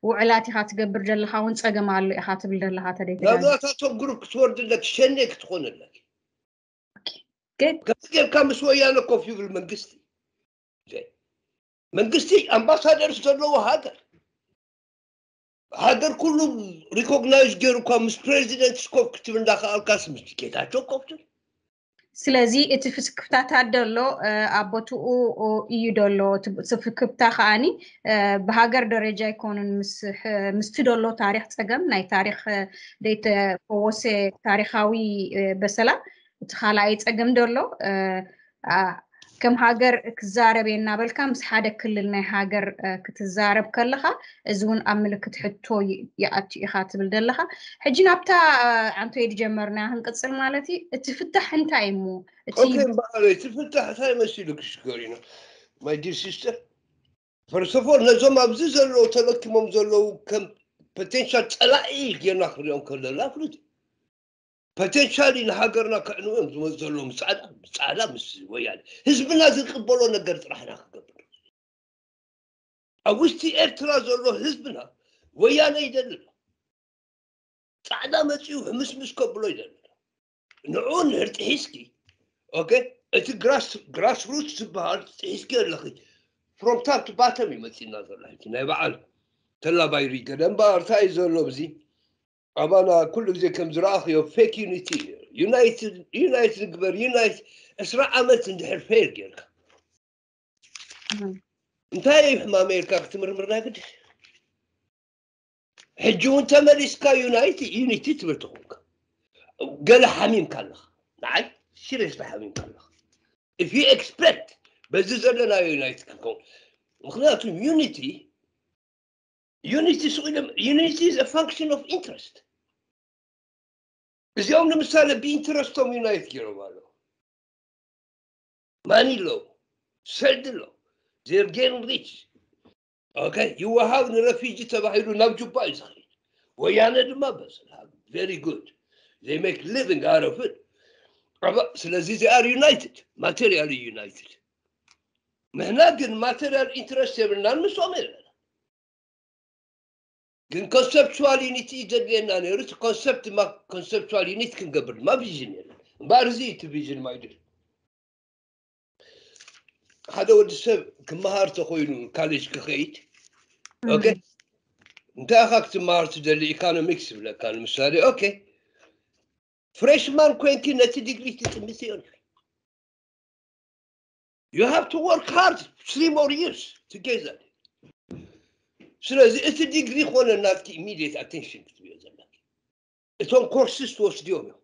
ውዕላት ኢኻ ትገብር ዘለካ እውን ፀገም ኣሎ ኢኻ ትብል ዘለካ ተደይ ናብዛታቶም ግሩፕ ክትወርድ ኣለኪ ሸኔ ክትኾን ኣለኪ ከዚ ጌርካ ምስ ወያነ ኮፍ ይብል መንግስቲ መንግስቲ ኣምባሳደርስ ዘለዎ ሃገር ሃገር ኩሉ ሪኮግናይዝ ገይሩ እኳ ምስ ፕሬዚደንት ስኮፍ ክትብል እንዳከኣልካስ ምስ ጌታቸው ኮፍ ትብል ስለዚ እቲ ፍስክፍታታት ደሎ ኣብ ቦትኡ እዩ ደሎ እቲ ፍክፍታ ከዓኒ ብሃገር ደረጃ ኣይኮኑን ምስቲ ደሎ ታሪክ ፀገም ናይ ታሪክ ደይተፈወሰ ታሪካዊ በሰላ እቲ ካልኣይ ፀገም ደሎ ከም ሃገር ክዛረብ እየ እናበልካ ምስ ሓደ ክልል ናይ ሃገር ክትዛረብ ከለካ እዚ እውን ኣብ ምልክት ሕቶ ይኣቱ ኢካ ትብል ዘለካ ሕጂ ናብታ ዓንቶየ ዝጀመርና ክንቅፅል ማለት እዩ እቲ ፍታሕ እንታይ እሞ እቲ ፍታሕ እንታይ መሲሉ ክሽገር ኢና my dear sister first of all ነዞም ኣብዚ ዘለዉ ተለኪሞም ዘለዉ ከም ፖቴንሻል ፀላኢ ጌርና ክሪኦም ከለና ፍሉጥ ፖቴንሻሊ ንሃገርና ከዕንዎም ዝመፅ ዘለዉ ምስ ፃዕዳ ምስ ፃዕዳ ምስ ወያነ ህዝብና ዝቅበሎ ነገር ጥራሕና ክገብር ኣብ ውሽጢ ኤርትራ ዘሎ ህዝብና ወያነ ይደሊ ኣሎ ፃዕዳ መፂኡ ሕምስምስ ከብሎ ይደሊ ኣሎ ንዑ ንድሕር ጥሒስኪ ኦኬ እቲ ግራስ ሩት ዝበሃል ጥሒስኪ ኣለኺ from top to bottom እዩ መፂና ዘሎ ሕጂ ናይ በዓል ተላባይ ሪገ ደንባር እንታይ እዩ ዘሎ እዚ ኣባና ኩሉ ግዜ ከም ዝረኣኽዮ ፌክ ዩኒቲ ዩናይትድ ዩናይት ንግበር ዩናይት ዕስራ ዓመት እንድሕር ፌል ጌርካ እንታይ እዩ ሕማም ኣሜሪካ ክትምርምር ናይ ግድስ ሕጂ እውን ተመሊስካ ዩናይቲ ዩኒቲ ትብል ትኾንካ ገለ ሓሚምካ ኣለኻ ንዓይ ሲሪየስሊ ሓሚምካ ኣለኻ if you expect በዚ ዘለና ዩናይት ክንከውን ምክንያቱ ዩኒቲ ዩኒቲ ስቕ ኢሎም ዩኒቲ is a function of interest እዚኦም ንምሳሌ ብኢንትረስቶም ዩናይት ገይሮም ኣለዉ ማኒሎ ሰልድሎ they're getting rich okay ይወሃብ ንረፊጂ ተባሂሉ ናብ ጁባ እዩ ዝኸይድ ወያነ ድማ በስል very good they make living out of it ስለዚ they are united materially united ንሕና ግን material interest የብልናን ምስኦም የለና ግን conceptual unity እዩ ዘድልየና ነይሩ እቲ concept ድማ conceptual unity ክንገብር ድማ vision የለን እምበኣር እዚ እቲ vision ማይድል ሓደ ወዲ ሰብ ክመሃር ተኮይኑ ካሌጅ ክኸይድ okay እንታይ ኢኻ ክትመሃር ትደሊ ኢኮኖሚክስ ይብለካ ንምሳሌ okay freshman ኮይንኪ ነቲ ዲግሪ ትጥምትዮ you have to work hard three more years together ስለዚ እቲ ዲግሪ ኮነ ናትኪ immediate attention ክትብዮ ዘለኪ እቶም ኮርስስ ትወስድዮም እዮም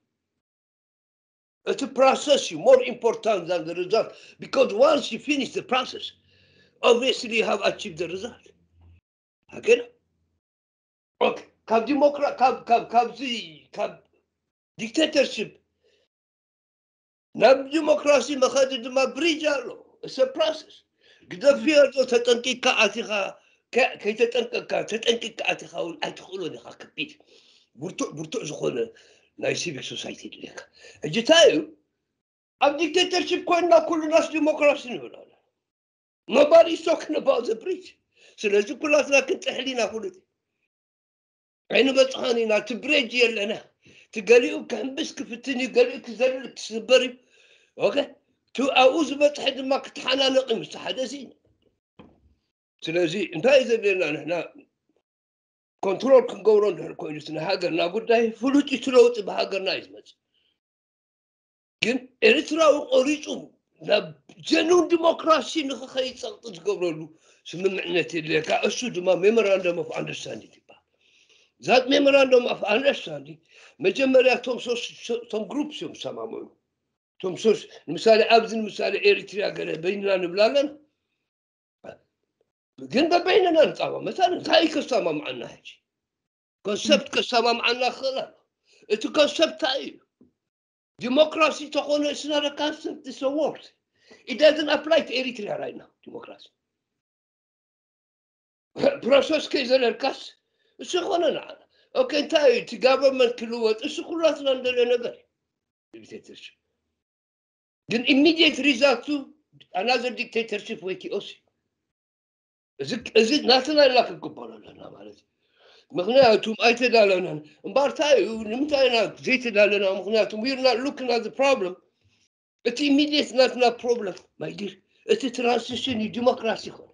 እቲ process እዩ more important than the result because once you finish the process obviously you have achieved the result ሃገር ካብ ዲሞክራ ካብ ካብ ካብዚ ካብ dictatorship ናብ ዲሞክራሲ መኸዲ ድማ bridge ኣሎ it's a process ግደፍዮ ዶ ተጠንቂቅካ ኣቲኻ ከይተጠንቀቅካ ተጠንቂቅካ ኣቲኻ እውን ኣይትኽእሎን ኢኻ። ከቢድ ብርቱዕ ብርቱዕ ዝኾነ ናይ ሲቪክ ሶሳይቲ ድልየካ። ሕጂ እንታይ እዩ ኣብ ዲክቴተርሽፕ ኮይንና ኩሉናስ ዲሞክራሲ ንብል ኣለና። Nobody is talking about the bridge። ስለዚ ኩላትና ክንጥሕል ኢና። ፍሉጥ ኣይንበፅሖን ኢና። እቲ ብሬጅ የለና። እቲ ገሊኡ ክሕምብስ ክፍትን እዩ፣ ገሊኡ ክዘልል ክስበር እዩ። ኦኬ፣ እቲ ኣብኡ ዝበፅሐ ድማ ክተሓናነቕ እዩ ምስ ሓደ እዚ። ስለዚ እንታይ እዩ ዘድልየና ንሕና ኮንትሮል ክንገብሮ እንድሕር ኮይኑ እቲ ናይ ሃገርና ጉዳይ ፍሉጥ እዩ። እቲ ለውጢ ብሃገርና እዩ ዝመፅእ። ግን ኤርትራዊ ቆሪፁ ናብ ጀኑን ዲሞክራሲ ንክኸይድ ፀቕጢ ዝገብረሉ ስምምዕነት የድልየካ። እሱ ድማ ሜሞራንደም ኦፍ ኣንደርስታንዲንግ ይበሃል። ዛት ሜሞራንደም ኦፍ ኣንደርስታንዲንግ መጀመርያ እቶም ሶስት እቶም ግሩፕስ እዮም ዝሰማምዑ። እቶም ሶስት ንምሳሌ ኣብዚ ንምሳሌ ኤሪትሪያ ገለ በይንና ንብላ ኣለና። ግን በበይንና ንፃማ መታን እንታይ ከሰማምዓና ሕጂ ኮንሰፕት ከሰማምዓና ክኽእል ኣሎ። እቲ ኮንሰፕት እንታይ እዩ? ዲሞክራሲ ተኾነ it's not a concept, it's a word. It doesn't apply to Eritrea right now. ዲሞክራሲ ፕሮሰስ ከይዘለልካስ እሱ ይኾነ ንዓና። ኦኬ፣ እንታይ እዩ እቲ ጋቨርንመንት ክልወጥ? እሱ ኩላትና እንደልዮ ነገር እዩ። ዲክቴተርሽፕ ግን ኢሚዲየት ሪዛልቱ ኣናዘር ዲክቴተርሽፕ ወይ ኪኦስ እዩ። እዚ ናትና ኢልና ክንቅበሎ ኣለና ማለት እዩ። ምክንያቱም ኣይተዳለናን። እምበኣር እንታይ እዩ ንምንታይ ኢና ዘይተዳለና? ምክንያቱም we're not looking at the problem። እቲ ኢሚዲየት ናትና ፕሮብለም ማይዲር እቲ ትራንስሽን እዩ። ዲሞክራሲ ይኮነ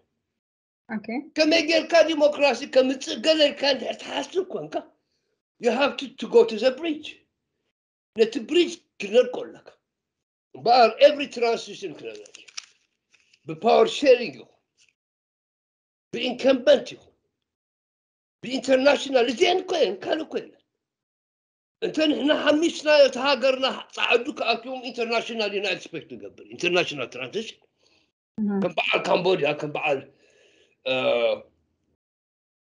ከመይ ጌርካ ዲሞክራሲ ከምፅእ ገለ ኢልካ እንድሕር ትሓስብ ኮንካ you have to, to go to the bridge። ነቲ ብሪጅ ክነድቆ ኣለካ። እምበኣር ኤቭሪ ትራንስሽን ክነግረኪ ብፓወር ሼሪንግ ይኹን ብኢንከምበንት ይኹን ብኢንተርናሽናል እዚአን እኮ እየን ካልእ እኮ የለን። እንተ ንሕና ሓሚስናዮ እቲ ሃገርና ፃዕዱ ክኣትዎም ኢንተርናሽናል ኢና ኤክስፔክት ንገብር። ኢንተርናሽናል ትራንስሽን ከም በዓል ካምቦድያ ከም በዓል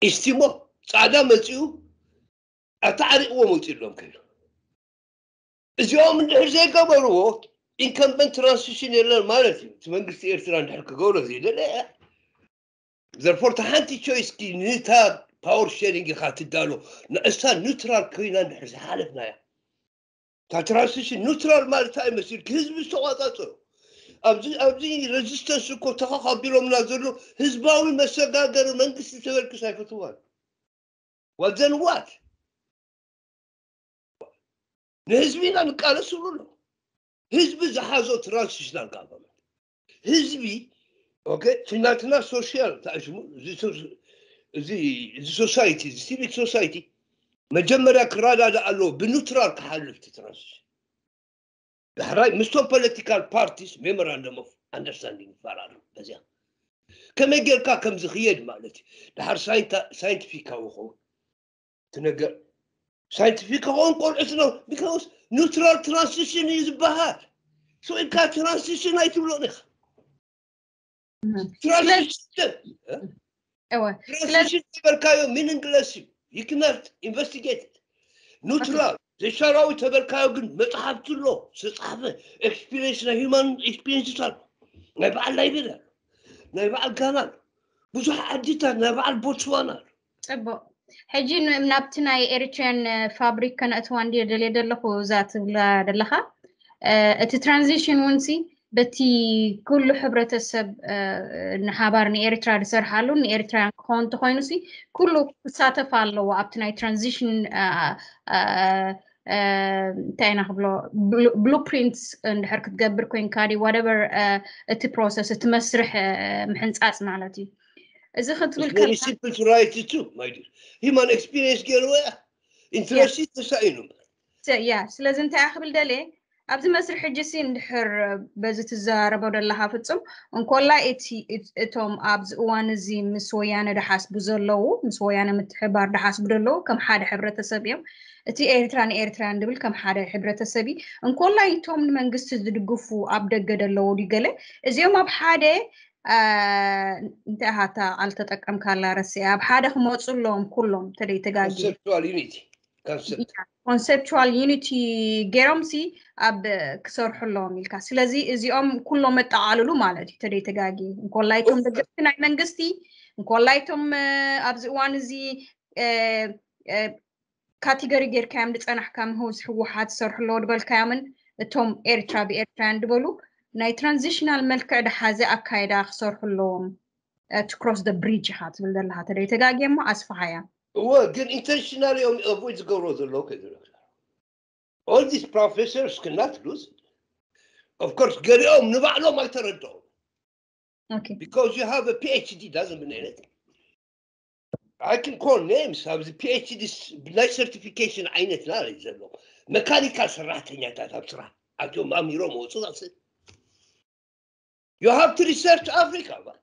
ኢስቲሞ ፃዕዳ መፂኡ ኣተዓሪቕዎ መውፅእሎም ከይዱ። እዚኦም እንድሕር ዘይገበርዎ ኢንከምበንት ትራንስሽን የለን ማለት እዩ። እቲ መንግስቲ ኤርትራ እንድሕር ክገብሮ ዘይደለ ዘርፎር ሓንቲ ቾይስኪ ንታ ፓወር ሼሪንግ ኢኻ ትዳሎ ንእሳ ኒውትራል ኮይና እንድሕር ዝሓለፍናያ እታ ትራንስሽን ኒውትራል ማለት እንታይ መሲልኪ ህዝቢ ዝተቋፃፀሩ ኣብዚ ኣብዚ ሬዚስተንስ እኮ ተኸኻቢሎምና ዘሎ ህዝባዊ መሰጋገሪ መንግስቲ ተበልክስ ኣይፈትዋን። What then what? ንህዝቢ ኢና ንቃለስሉ ኣሎ። ህዝቢ ዝሓዞ ትራንስሽናል ጋቨርንመንት ህዝቢ ኦኬ፣ እቲ ናትና ሶሻል ታሽሙ እዚ ሶሳይቲ እዚ ሲቪክ ሶሳይቲ መጀመርያ ክረዳዳእ ኣለዎ ብኒውትራል ክሓልፍ እቲ ትራንስሽን። ዳሕራይ ምስቶም ፖለቲካል ፓርቲስ ሜሞራንደም ኦፍ ኣንደርስታንዲንግ ይፈራረም። በዚያ ከመይ ጌርካ ከም ዝኽየድ ማለት እዩ። ዳሕር ሳይንቲፊካዊ ኸውን ትነገር ሳይንቲፊክ ኸውን ቆልዑት ነው because ኒውትራል ትራንስሽን እዩ ዝበሃል። ሶ ኢልካ ትራንስሽን ኣይትብሎን ኢኻ። ትራንስሽን ትራንስሽን ዝበልካዮ ሚኒንግለስ እዩ። You cannot investigate it. ኒውትራል ዘይሻራዊ ተበልካዮ ግን መፅሓፍቲ ኣሎ ዝተፃሕፈ ኤክስፒሪንስ ናይ ሂማን ኤክስፒሪንስ ኣሎ ናይ በዓል ላይቤሪያ ኣሎ ናይ በዓል ጋና ኣሎ ብዙሕ ዓድታት ናይ በዓል ቦትስዋና ኣሎ። ፅቡቅ ሕጂ ናብቲ ናይ ኤሪትሪያን ፋብሪክ ከነእትዋ እንዲ ደልየ ዘለኹ እዛ ትብላ ዘለኻ እቲ ትራንዚሽን እውን ሲ በቲ ኩሉ ሕብረተሰብ ንሓባር ንኤርትራ ዝሰርሓሉ ንኤርትራውያን ክኸውን እንተኮይኑ ሲ ኩሉ ክሳተፍ ኣለዎ ኣብቲ ናይ ትራንዚሽን እንታይ ኢና ክብሎ ብሉፕሪንትስ እንድሕር ክትገብር ኮይንካ ዲ ዋደቨር እቲ ፕሮሰስ እቲ መስርሕ ምሕንፃፅ ማለት እዩ። እዚ ክትብል ሲምፕል ቱ ራይት ቱ ማይ ዲር ሂማን ኤክስፒሪየንስ ገይርዎ እያ ኢንትረስት ተሳኢኑ ያ ስለዚ እንታይ ክብል ደልየ ኣብዚ መስርሕ ሕጂ ሲ እንድሕር በዚ ትዘራረቦ ደለኻ ፍጹም እንኮላይ እቲ እቶም ኣብዚ እዋን እዚ ምስ ወያነ ድሓስቡ ዘለዉ ምስ ወያነ ምትሕባር ድሓስቡ ደለዉ ከም ሓደ ሕብረተሰብ እዮም እቲ ኤርትራ ንኤርትራያን ድብል ከም ሓደ ሕብረተሰብ እዩ እንኮላይ እቶም ንመንግስቲ ዝድግፉ ኣብ ደገ ደለዉ ድዩ ገለ እዚኦም ኣብ ሓደ እንታይ ሃታ ቃል ተጠቀምካላ ረሲኣ ኣብ ሓደ ክመፁ ኣለዎም ኩሎም ተደይ ተጋጊ conceptual unity concept conceptual unity ገይሮም ሲ ኣብ ክሰርሑ ኣለዎም ኢልካ። ስለዚ እዚኦም ኩሎም መጠቓልሉ ማለት እዩ። ተደይ ተጋጊ እንኮላይቶም ደገፍቲ ናይ መንግስቲ እንኮላይቶም ኣብዚ እዋን እዚ ካቴጎሪ ጌርካዮም ዝፀናሕካ ምህውስ ህወሓት ዝሰርሑ ኣለዎ ዝበልካዮምን እቶም ኤርትራ ብኤርትራውያን ዝበሉ ናይ ትራንዚሽናል መልክዕ ዝሓዘ ኣካይዳ ክሰርሑ ኣለዎም። To cross the bridge ኢኻ ትብል ዘለኻ ተደይ ተጋጊ እሞ ኣስፍሓያ። እወ ግን intentionally እዮም avoid ዝገብሮ ዘለዉ ከይዝረብ all these professors cannot lose it. Of course ገሊኦም ንባዕሎም ኣይተረድኦም Okay. because you have a PhD doesn't mean anything. I can call names ኣብዚ PhD ናይ certification ዓይነት ና ዘሎ መካኒካል ሰራሕተኛታት ኣብ ስራሕ ኣቶም ኣሚሮም ወፁ that's it. You have to research Africa man.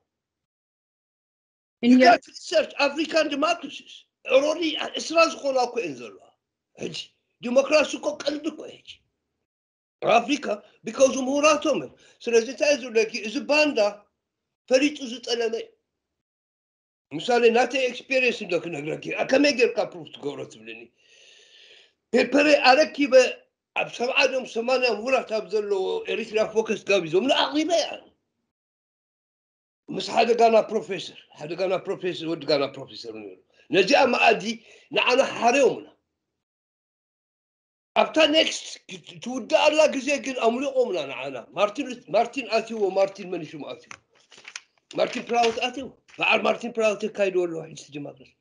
You እንዮ got to research African democracies. Already እስራ ዝኾና እኮ እየን ዘለዋ ሕጂ ዲሞክራሲ እኮ ቀልዲ እኮ ሕጂ ኣፍሪካ because ምሁራቶም እዮም። ስለዚ እንታይ ዝብለኪ እዚ ባንዳ ፈሊጡ ዝጠለመ እዩ። ምሳሌ ናተይ experience እንዶ ክነግረኪ ከመይ ጌርካ proof ትገብሮ ትብልኒ ፔፐረ ኣረኪበ ኣብ ሰብዓ ዶም ሰማንያ ምሁራት ኣብ ዘለዎ ኤሪትሪያ ፎከስ ጋቢዞም ንኣቕሪበ እያ ምስ ሓደ ጋና ፕሮፌሰር ሓደ ጋና ፕሮፌሰር ወዲ ጋና ፕሮፌሰር ነሩ ነዚኣ መኣዲ ንዓና ሓርዮምና ኣብታ next ትውዳኣላ ግዜ ግን ኣምሊቆምና ንዓና ማርቲን ማርቲን ኣትዎ ማርቲን መን ሽሙ ኣትዎ ማርቲን ፕራውት ኣትዎ በዓል ማርቲን ፕራውት የካይድዎ ኣለዎ ሕጂ ዲሞክራሲ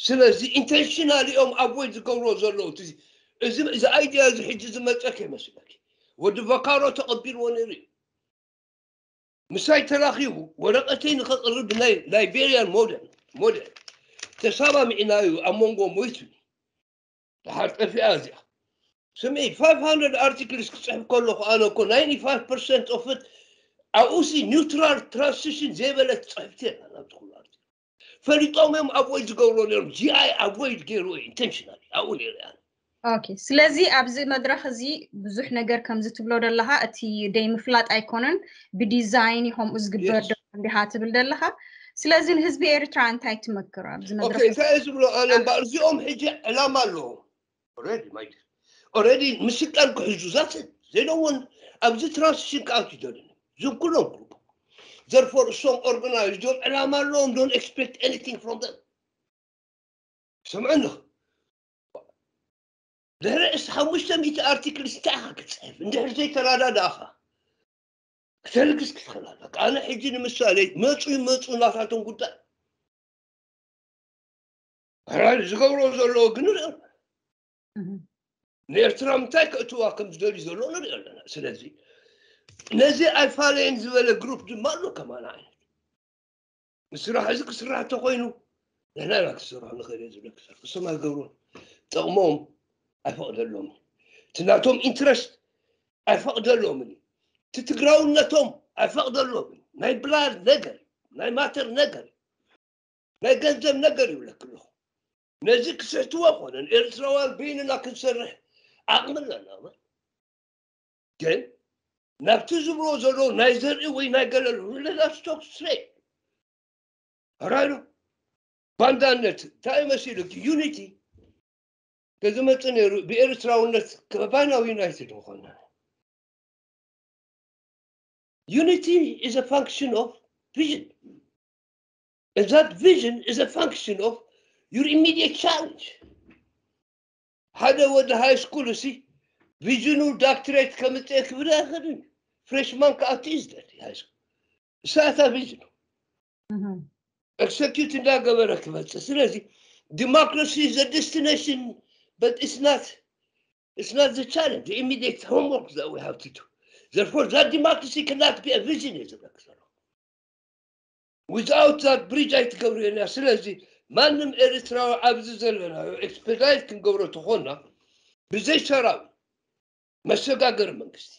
ስለዚ intentionally እዮም avoid ዝገብርዎ ዘለዉ እዚ እዚ idea እዚ ሕጂ ዝመፀ ከይመስለኪ ወዲ ቫካሮ ተቐቢልዎ ነይሩ እዩ ምሳይ ተራኺቡ ወረቐተይ ንኸቕርብ ናይ ላይቤሪያን ሞደል ሞደል ተሰማሚዕናዩ ኣብ መንጎ ሞይቱ ድሓር ጠፊኣ እዚኣ ስምዒ five hundred articles ክፅሕፍ ከለኹ ኣነ እኮ ninety-five percent of it ኣብኡሲ neutral transition ዘይበለት ፅሕፍቲ የላ ናብቲ ኩሉ article ፈሊጦም እዮም avoid ዝገብርዎ ነይሮም GI avoid ገይርዎ እዩ intentionally ኣብኡ ነይረ ኣነ Okay ስለዚ ኣብዚ መድረኽ እዚ ብዙሕ ነገር ከምዚ ትብሎ ዘለኻ እቲ ደይ ምፍላጥ ኣይኮነን ብዲዛይን እዩ ከምኡ ዝግበር Yes. ዶ እንዲኻ ትብል ዘለኻ ስለዚ ንህዝቢ ኤርትራ እንታይ ትመክሮ ኣብዚ መድረኽ Okay እንታይ እየ ዝብሎ ኣነ እምበኣር እዚኦም ሕጂ ዕላማ ኣለዎም already my dear already ምስልጣን ክሕዙ that's it they don't want ኣብዚ transition ክኣቱ ይደልን ዝም ኩሎም group therefore እሶም organized እዮም ዕላማ ኣለዎም don't expect anything from them ስምዕኒ ድሕሪ ዕስራ ሓሙሽተ ሚእቲ articles እንታይ ኢኻ ክትፅሕፍ እንድሕር ዘይተረዳዳእኻ ክተልግስ ክትኽእል ኣለካ ኣነ ሕጂ ንምሳሌ መፁ ይመፁ ናታቶም ጉዳይ ሕራይ ዝገብሮ ዘለዎ ግን ንሪኦ ኣለና ንኤርትራ ምንታይ ከእትዋ ከም ዝደልዩ ዘሎ ንሪኦ ኣለና ስለዚ ነዚ ኣይፋለየን ዝበለ group ድማ ኣሎ ከማን ዓይነት ንስራሕ እዚ ክስራሕ እንተኮይኑ ንሕና ኢና ክሰርሖ ንኽእል እየ ዝብለኪ እሶም ኣይገብሩን ጥቕሞም ኣይፈቕደሎምን እቲ ናቶም interest ኣይፈቕደሎምን እዩ እቲ ትግራውነቶም ኣይፈቕደሎምን ናይ blood ነገር ናይ matter ነገር ናይ ገንዘብ ነገር ይብለኪ ኣለኹ ነዚ ክስሕትዎ ኮነ ንኤርትራውያን በይንና ክንሰርሕ ዓቕሚ ኣለና ግን ናብቲ ዝብሎ ዘሎ ናይ ዘርኢ ወይ ናይ ገለሉ let us talk straight ሕራይ ዶ ባንዳነት እንታይ መሲሉ unity ተዝመፅእ ነይሩ ብኤርትራውነት ከማና united ምኾና unity is a function of vision and that vision is a function of your immediate challenge ሓደ ወዲ high school እሲ vision ኡ doctorate ከምፅእ ክብል ኣይኽእልን freshman ክኣቱ እዩ ዝደሊ high school እሳታ vision execute እንዳገበረ ክመፅእ ስለዚ democracy is a destination but it's not it's not the challenge the immediate homework that we have to do therefore that democracy cannot be a vision is without that bridge ኣይትገብርዮን እያ ስለዚ ማንም ኤርትራዊ ኣብዚ ዘለናዮ expedite ክንገብሮ ተኾና ብዘይ ሰራዊ መሰጋገሪ መንግስቲ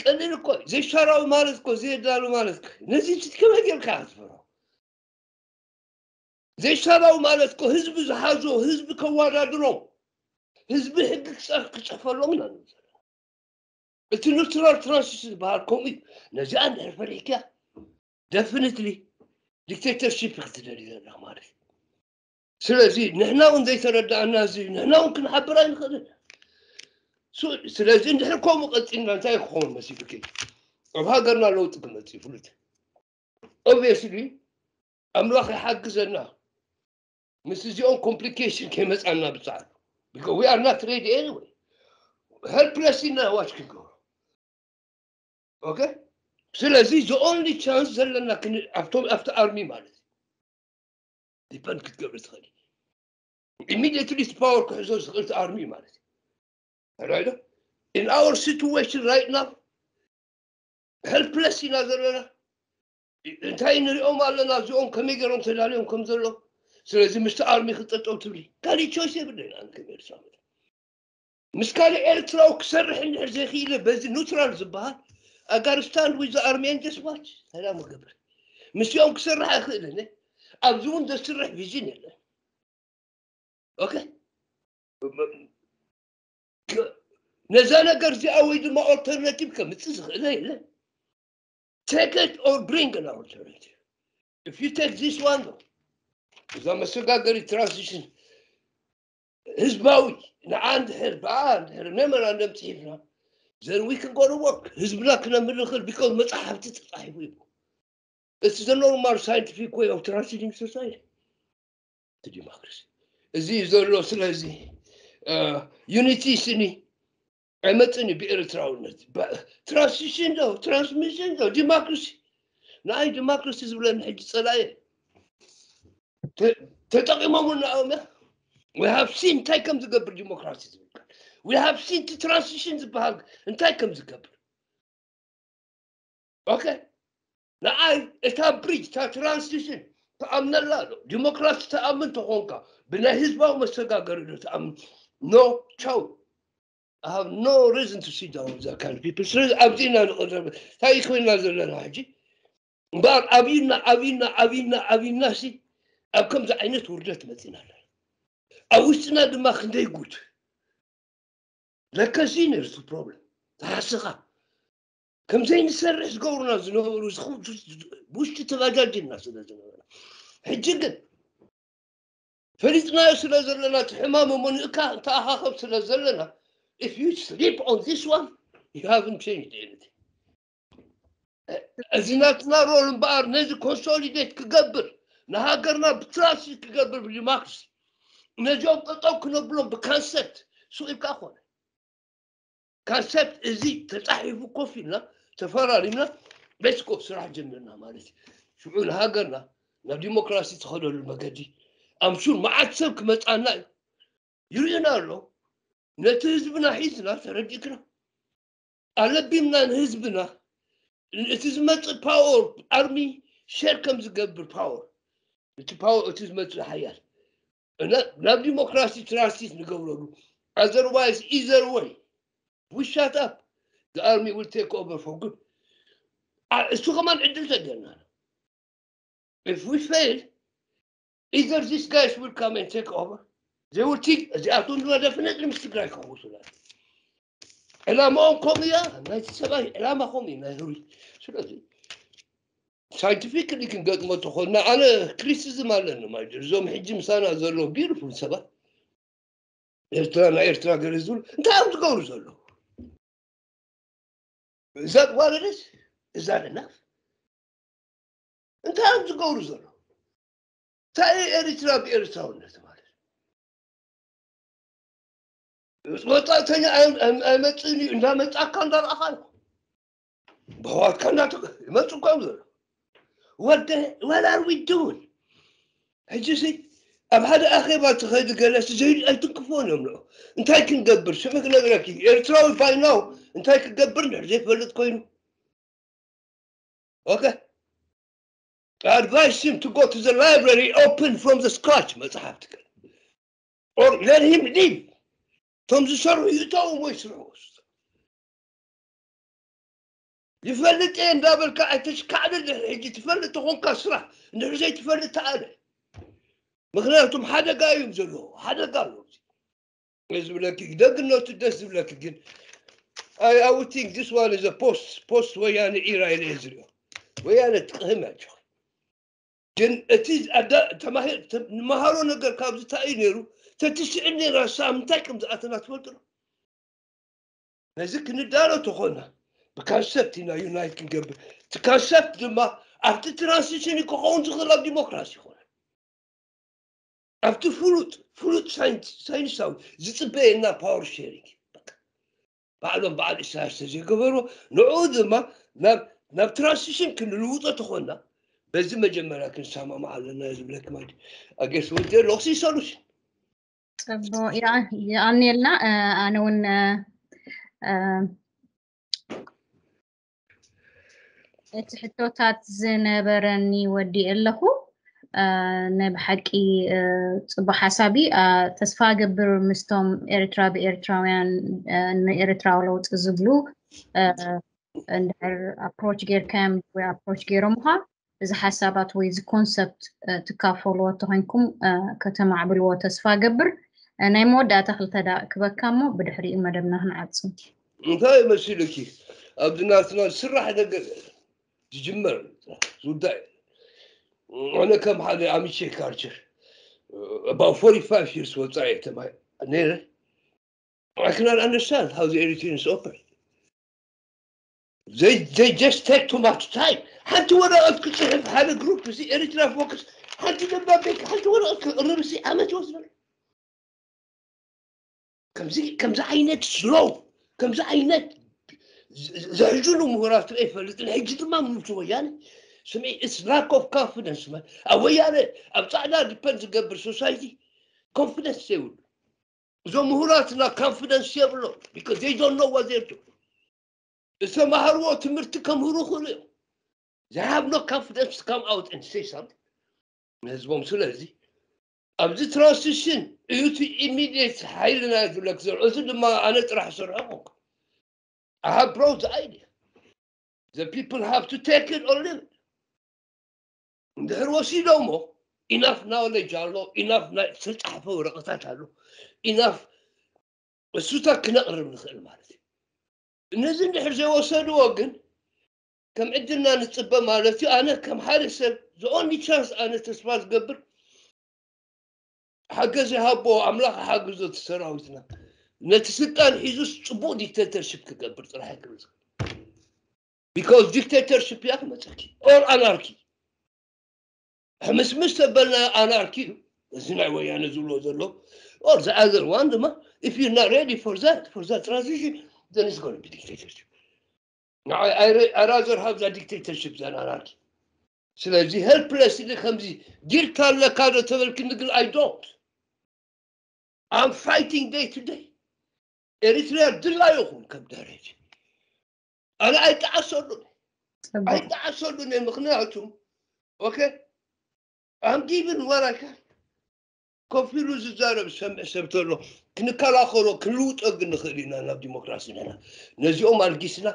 ቀሊል እኮ እዩ ዘይሻራዊ ማለት እኮ ዘየዳሉ ማለት እኮ እዩ። ነዚ ትከመይ ጌርካ ክትፈሮ ዘይሻራዊ ማለት እኮ ህዝቢ ዝሓዞ ህዝቢ ከዋዳድሮም ህዝቢ ሕጊ ክፀ- ክፀፈሎም ኢና ንብል ዘለና። እቲ ኑትራል ትራንስሽን ዝበሃል ከምኡ እዩ። ነዚኣ እንድሕር ፈሪሕክያ ደፍኒትሊ ዲክቴተርሺፕ ክትደሊ ዘለኻ ማለት እዩ። ስለዚ ንሕና እውን ዘይተረዳእና እዚ ንሕና እውን ክንሓብር ኣይንኽእልን። ስለዚ እንድሕር ከምኡ ቀፂልና እንታይ ክኸውን መሲሉኪ? ኣብ ሃገርና ለውጢ ክመፅእ ፍሉጥ። Obviously ኣምላኽ ይሓግዘና ምስ እዚኦም complication ከይመፃና ብፃዕዱ። Because we are not ready anyway. Helpless ኢና watch ክንገብሮ። Okay? ስለዚ the only chance ዘለና ኣብቲ army ማለት እዩ። Depend ክትገብር ትኽእል። Immediately power ክሕዞ ዝኽእል army ማለት እዩ። Right? In our situation right now helpless ኢና ዘለና። እንታይ ንሪኦም ኣለና እዚኦም ከመይ ገይሮም ተዳልዮም ከም ዘሎ። ስለዚ ምስቲ army ክጠጠው ትብሊ ካልእ choice የብለና። ከመይ ምስ ካልእ ኤርትራዊ ክሰርሕ እንድሕር ዘይክኢለ በዚ neutral ዝበሃል I gotta stand with the army and just watch። ሰላም ገብር ምስኦም ክሰርሕ ኣይኽእልን። ኣብዚ እውን ዘስርሕ vision የለን። Okay? ነዛ ነገር እዚኣ ወይ ድማ alternative ከምፅእ ዝኽእለ የለን። Take it or bring an alternative. If you take this one though እዛ መሰጋገሪ transition ህዝባዊ ንዓ እንድሕር ብኣ እንድሕር memorandum ፅሒፍና then we can go to work። ህዝብና ክነምር ንኽእል because መፅሓፍቲ ተፃሒፉ እዩ። It's the normal scientific way of transitioning society to democracy። እዚ እዩ ዘሎ። ስለዚ unity ስኒ ኣይመፅን እዩ ብኤርትራውነት። Transition ዶ transmission ዶ democracy? ንኣይ democracy ዝብለኒ ሕጂ ፀላየ ተጠቂሞምና እዮም። We have seen እንታይ ከም ዝገብር democracy ዝብል we have seen transition ዝበሃል እንታይ ከም ዝገብር። Okay? ንኣይ እታ bridge እታ transition ተኣምነላ ኣሎ። ዲሞክራሲ ተኣምን ተኾንካ ብናይ ህዝባዊ መሰጋገሪ ዶ ተኣምን? No, ቻው። I have no reason to sit down with that kind of people. ስለዚ ኣብዚ ኢና ንቕረብ። እንታይ ኮይና ዘለና ሕጂ? እምበኣር ኣብዩና ኣብዩና ኣብዩና ኣብዩና ሲ ኣብ ከምዚ ዓይነት ውርደት መፂና ኣለና። ኣብ ውሽጥና ድማ ክንደይ ጉድ ለከሲ ነርሱ problem ተሓስኻ ከምዘይ ንሰርሕ ዝገብሩና ዝነበሩ ውሽጢ ተባጃጅና ስለ ዝነበረ ሕጂ ግን ፈሊጥናዮ ስለ ዘለና እቲ ሕማም እሞ ንእካ እንተኣኻኸብ ስለ ዘለና if you sleep on this one you haven't changed anything። እዚ ናትና role እምበኣር ነዚ consolidate ክገብር ንሃገርና ብትራንስ ክገብር ብዲሞክራሲ ነዚኦም ጠጠው ክነብሎም ብካንሰፕት ሱቕ ኢልካ ኮነ ካንሰፕት እዚ ተፃሒፉ ኮፍ ኢልና ተፈራሪምና ቤስኮ ስራሕ ጀምርና ማለት እዩ። ሽዑ ንሃገርና ናብ ዲሞክራሲ ትኸደሉ መገዲ ኣምሹር መዓት ሰብ ክመፃና እዩ። ይርእዩና ኣሎ። ነቲ ህዝብና ሒዝና ተረዲእክና ኣለቢምና ንህዝብና እቲ ዝመፅእ power army share ከም ዝገብር power እቲ power እቲ ዝመፅእ ሓያል ናብ ዲሞክራሲ ትራንሲት ንገብረሉ otherwise either way we shut up the army will take over for good እሱ ከማን ዕድል ተገና if we fail either these guys will come and take over they will think እዚኣቶም ድማ definitely ምስ ትግራይ ክኸውሱላ ዕላማኦም ከምኡ እያ ናይቲ ሰብኣይ ዕላማ ከምኡ እዩ ናይ ህሩይ ስለዚ scientifically ክንገጥሞ ተኾንና ኣነ criticism ኣለኒ ማለት እዞም ሕጂ ምሳና ዘለዉ beautiful ሰባት ኤርትራ ናይ ኤርትራ ገለ ዝብሉ እንታይ እዮም ዝገብሩ ዘለዉ እዛ ጓለደስ እዛ ደናፍ እንታይ እዮም ዝገብሩ ዘለዉ እንታይ ኤርትራ ብኤርትራውነት ማለት ወፃእተኛ ኣይመፅእን እዩ እንዳመፃካ እንዳረኣኻ እዩ ብሕዋትካ እንዳተ ይመፁ እኳ እዮም ዘሎ ወደ what are we doing ሕጂ ሲ ኣብ ሓደ ኣኼባ ትኸዲ ገለ ሲ ዘይዱ ኣይትንክፎን እዮም ንዑ እንታይ ክንገብር ሽዑ ክነግረኪ ኤርትራዊ by now እንታይ ክገብር እንድሕር ዘይፈልጥ ኮይኑ okay I advise him to go to the library open from the scratch መፅሓፍቲ or let him leave እቶም ዝሰርሑ ይእተዎም ወይ ስርሑ ይፈልጥ እየ እንዳበልካ ኣይተሽካዕልል ድሕሪ ሕጂ ትፈልጥ ተኾንካ ስራሕ እንድሕር ዘይትፈልጥ ተኣለ ምክንያቱም ሓደጋ እዮም ዘለዎ ሓደጋ ኣሎ ዝብለኪ ደግነቱ ደስ ዝብለኪ ግን I, I would think this one is a post post ወያነ era ኢለ እየ ዝሪኦ ወያነ ትቅህም ያቸው ግን እቲ ኣዳ- ተማሂር ተ- ንመሃሮ ነገር ካብዚ እንታይ እዩ ነይሩ? ተትስዕብ ነይራ ሳብ ምንታይ ከም ዝኣተና ትፈልጡ ዶ? ነዚ ክንዳሎ ተኾና ብካንሰፕት ኢና ዩናይት ክንገብር። እቲ ካንሰፕት ድማ ኣብቲ ትራንሲሽን ክኸውን ዝኽእል ኣብ ዲሞክራሲ ይኾነ ኣብቲ ፍሉጥ ፍሉጥ ሳይንስ- ሳይንሳዊ ዝፅበየና ፓወር ሼሪንግ ባዕሎም በዓል ኢሳያስ ተዘይገበርዎ ንዕኡ ድማ ናብ ናብ ትራንሲሽን ክንልውጦ ተኾና በዚ መጀመርያ ክንሰማማዕ ኣለና ዝብለክ ማለት ኣጌስ ወደ ሎክሲ ሶሉሽን ፅቡቅ ይኣ- ይኣንየልና እ፣ ኣነ እውን እ፣ እ፣ እቲ ሕቶታት ዝነበረኒ ወዲ ኣለኹ እ፣ ናይ ብሓቂ እ፣ ፅቡቅ ሓሳብ እዩ እ፣ ተስፋ ገብር ምስቶም ኤርትራ ብኤርትራውያን እ፣ ንኤርትራዊ ለውጢ ዝብሉ እ፣ እንድሕር ኣፕሮች ጌርካዮም ወይ ኣፕሮች ጌሮምኻ እዚ ሓሳባት ወይ እዚ ኮንሰፕት እ፣ ትካፈሉዎ ተኮይንኩም እ፣ ከተማዕብልዎ ተስፋ ገብር እ፣ ናይ መወዳእታ ክልተ ደቂቅ ክበካ እሞ ብድሕሪኡ መደብና ክንዓጹ እንታይ መሲልኪ ኣብዚ ናትና ዝስራሕ ነገር ዝጅመር ዝውዳእ ኣነ ከም ሓደ ኣሚቼ ካልቸር about forty-five years ወፃኢ ተማሂረ ነይረ I cannot understand how the Eritreans operate. They, they just take too much time. ሓንቲ ወረቐት ክፅሕፍ ሓደ ግሩፕ እዚ ኤሪትራ ፎክስ ሓንቲ ደብዳቤ ሓንቲ ወረቐት ክቕርብ ሲ ዓመት ይወስደሉ። ከምዚ ከምዚ ዓይነት ስሎው ከምዚ ዓይነት ዘሕዝኑ ምሁራት ርአ ይፈልጥ። ሕጂ ድማ ምንቱ ወያነ ስምዒ it's lack of confidence man ኣብ ወያነ ኣብ ፃዕዳ ዲፐንድ ዝገብር ሶሳይቲ ኮንፊደንስ የብሉ። እዞም ምሁራትና confidence የብሎም because they don't know what they're doing። ዝተማሃርዎ ትምህርቲ ከምህሩ ክእሉ እዮም። They have no confidence to come out and say something ንህዝቦም። ስለዚ ኣብዚ ትራንሲሽን እዩ እቲ ኢሚዲየት ሓይልና ዝብለክ ዘሎ። እዚ ድማ ኣነ ጥራሕ ዝሰርሖ ኮንኩ I have brought the idea. The people have to take it or leave it. እንድሕር ወሲዶሞ ኢናፍ ናውሌጅ ኣሎ ኢናፍ ናይ ዝተፃሕፈ ወረቐታት ኣሎ ኢናፍ እሱታት ክነቕርብ ንኽእል ማለት እዩ። እነዚ እንድሕር ዘይወሰድዎ ግን ከም ዕድልና ንፅበ ማለት እዩ። ኣነ ከም ሓደ ሰብ the only chance ኣነ ተስፋ ዝገብር ሓገዝ ይሃቦ ኣምላኽ ሓግዞ እቲ ሰራዊትና ነቲ ስልጣን ሒዙስ ፅቡቕ ዲክቴተርሽፕ ክገብር ጥራሕ ክብል because dictatorship እያ ክመፀኪ or anarchy ሕምስምስ ተበልና ኣናርኪ እዩ እዚ ናይ ወያነ ዝብሎ ዘሎ or the other one ድማ if you're not ready for that for that transition then it's going to be dictatorship I, I, I rather have that dictatorship than anarchy ስለዚ helpless ኢለ ከምዚ ጊርካ ኣለካ ዶ ተበልክኒ ግን I don't I'm fighting day to day ኤሪትሪያ ድላ ይኹን ከም ደረጅ ኣነ ኣይጠዓሰሉን ኣይጠዓሰሉን ምክንያቱ okay I'm giving what I can ኮፍ ኢሉ ዝዛረብ ዝሰምዕ ሰብ ተሎ ክንከላኸሎ ክንልውጦ ግን ንኽእል ኢና ናብ ዲሞክራሲ ንሕና ነዚኦም ኣልጊስና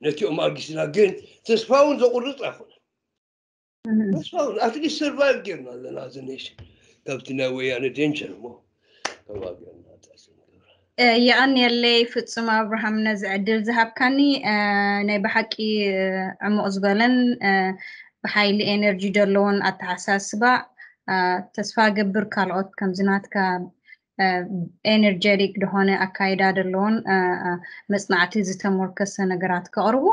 ነቲኦም ኣልጊስና ግን ተስፋ እውን ዘቁርፅ ኣይኮነን ተስፋ እውን ኣትሊስት ሰርቫይቭ ጌርና ኣለና እዚ ኔሽን ካብቲ ናይ ወያነ ዴንቸር እሞ ተዋጊእና የቐንየለይ ፍጹም ኣብርሃም ነዚ ዕድል ዝሃብካኒ ናይ ብሓቂ ዕሙቕ ዝበለን ብሓይሊ ኤነርጂ ዘለዎን ኣተሓሳስባ ተስፋ ገብር ካልኦት ከምዚ ናትካ ኤነርጀቲክ ዝኾነ ኣካይዳ ዘለዎን መፅናዕቲ ዝተሞርከሰ ነገራት ከቕርቡ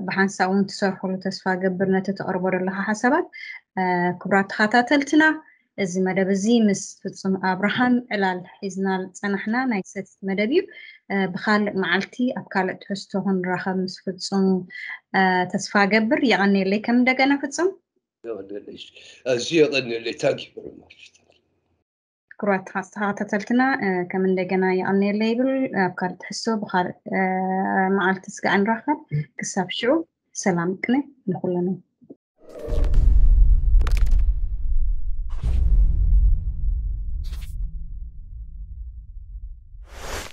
ብሓንሳብ እውን ትሰርሕሉ ተስፋ ገብር ነቲ ተቕርቦ ዘለካ ሓሳባት ክቡራት ተኸታተልትና እዚ መደብ እዚ ምስ ፍጹም ኣብርሃም ዕላል ሒዝና ዝጸናሕና ናይ ሰቲ መደብ እዩ። ብኻልእ መዓልቲ ኣብ ካልእ ትሕዝቶ ክንራኸብ ምስ ፍጹም ተስፋ ገብር። የቐንየለይ ከም እንደገና ፍጹም። ኣዝዩ የቐንየለይ። Thank you very much. ክቡራት ተኸታተልትና ከም እንደገና የቐንየለይ ይብል። ኣብ ካልእ ትሕዝቶ ብኻልእ መዓልቲ ስጋዕ ንራኸብ። ክሳብ ሽዑ ሰላም ቅነ ንኹለና።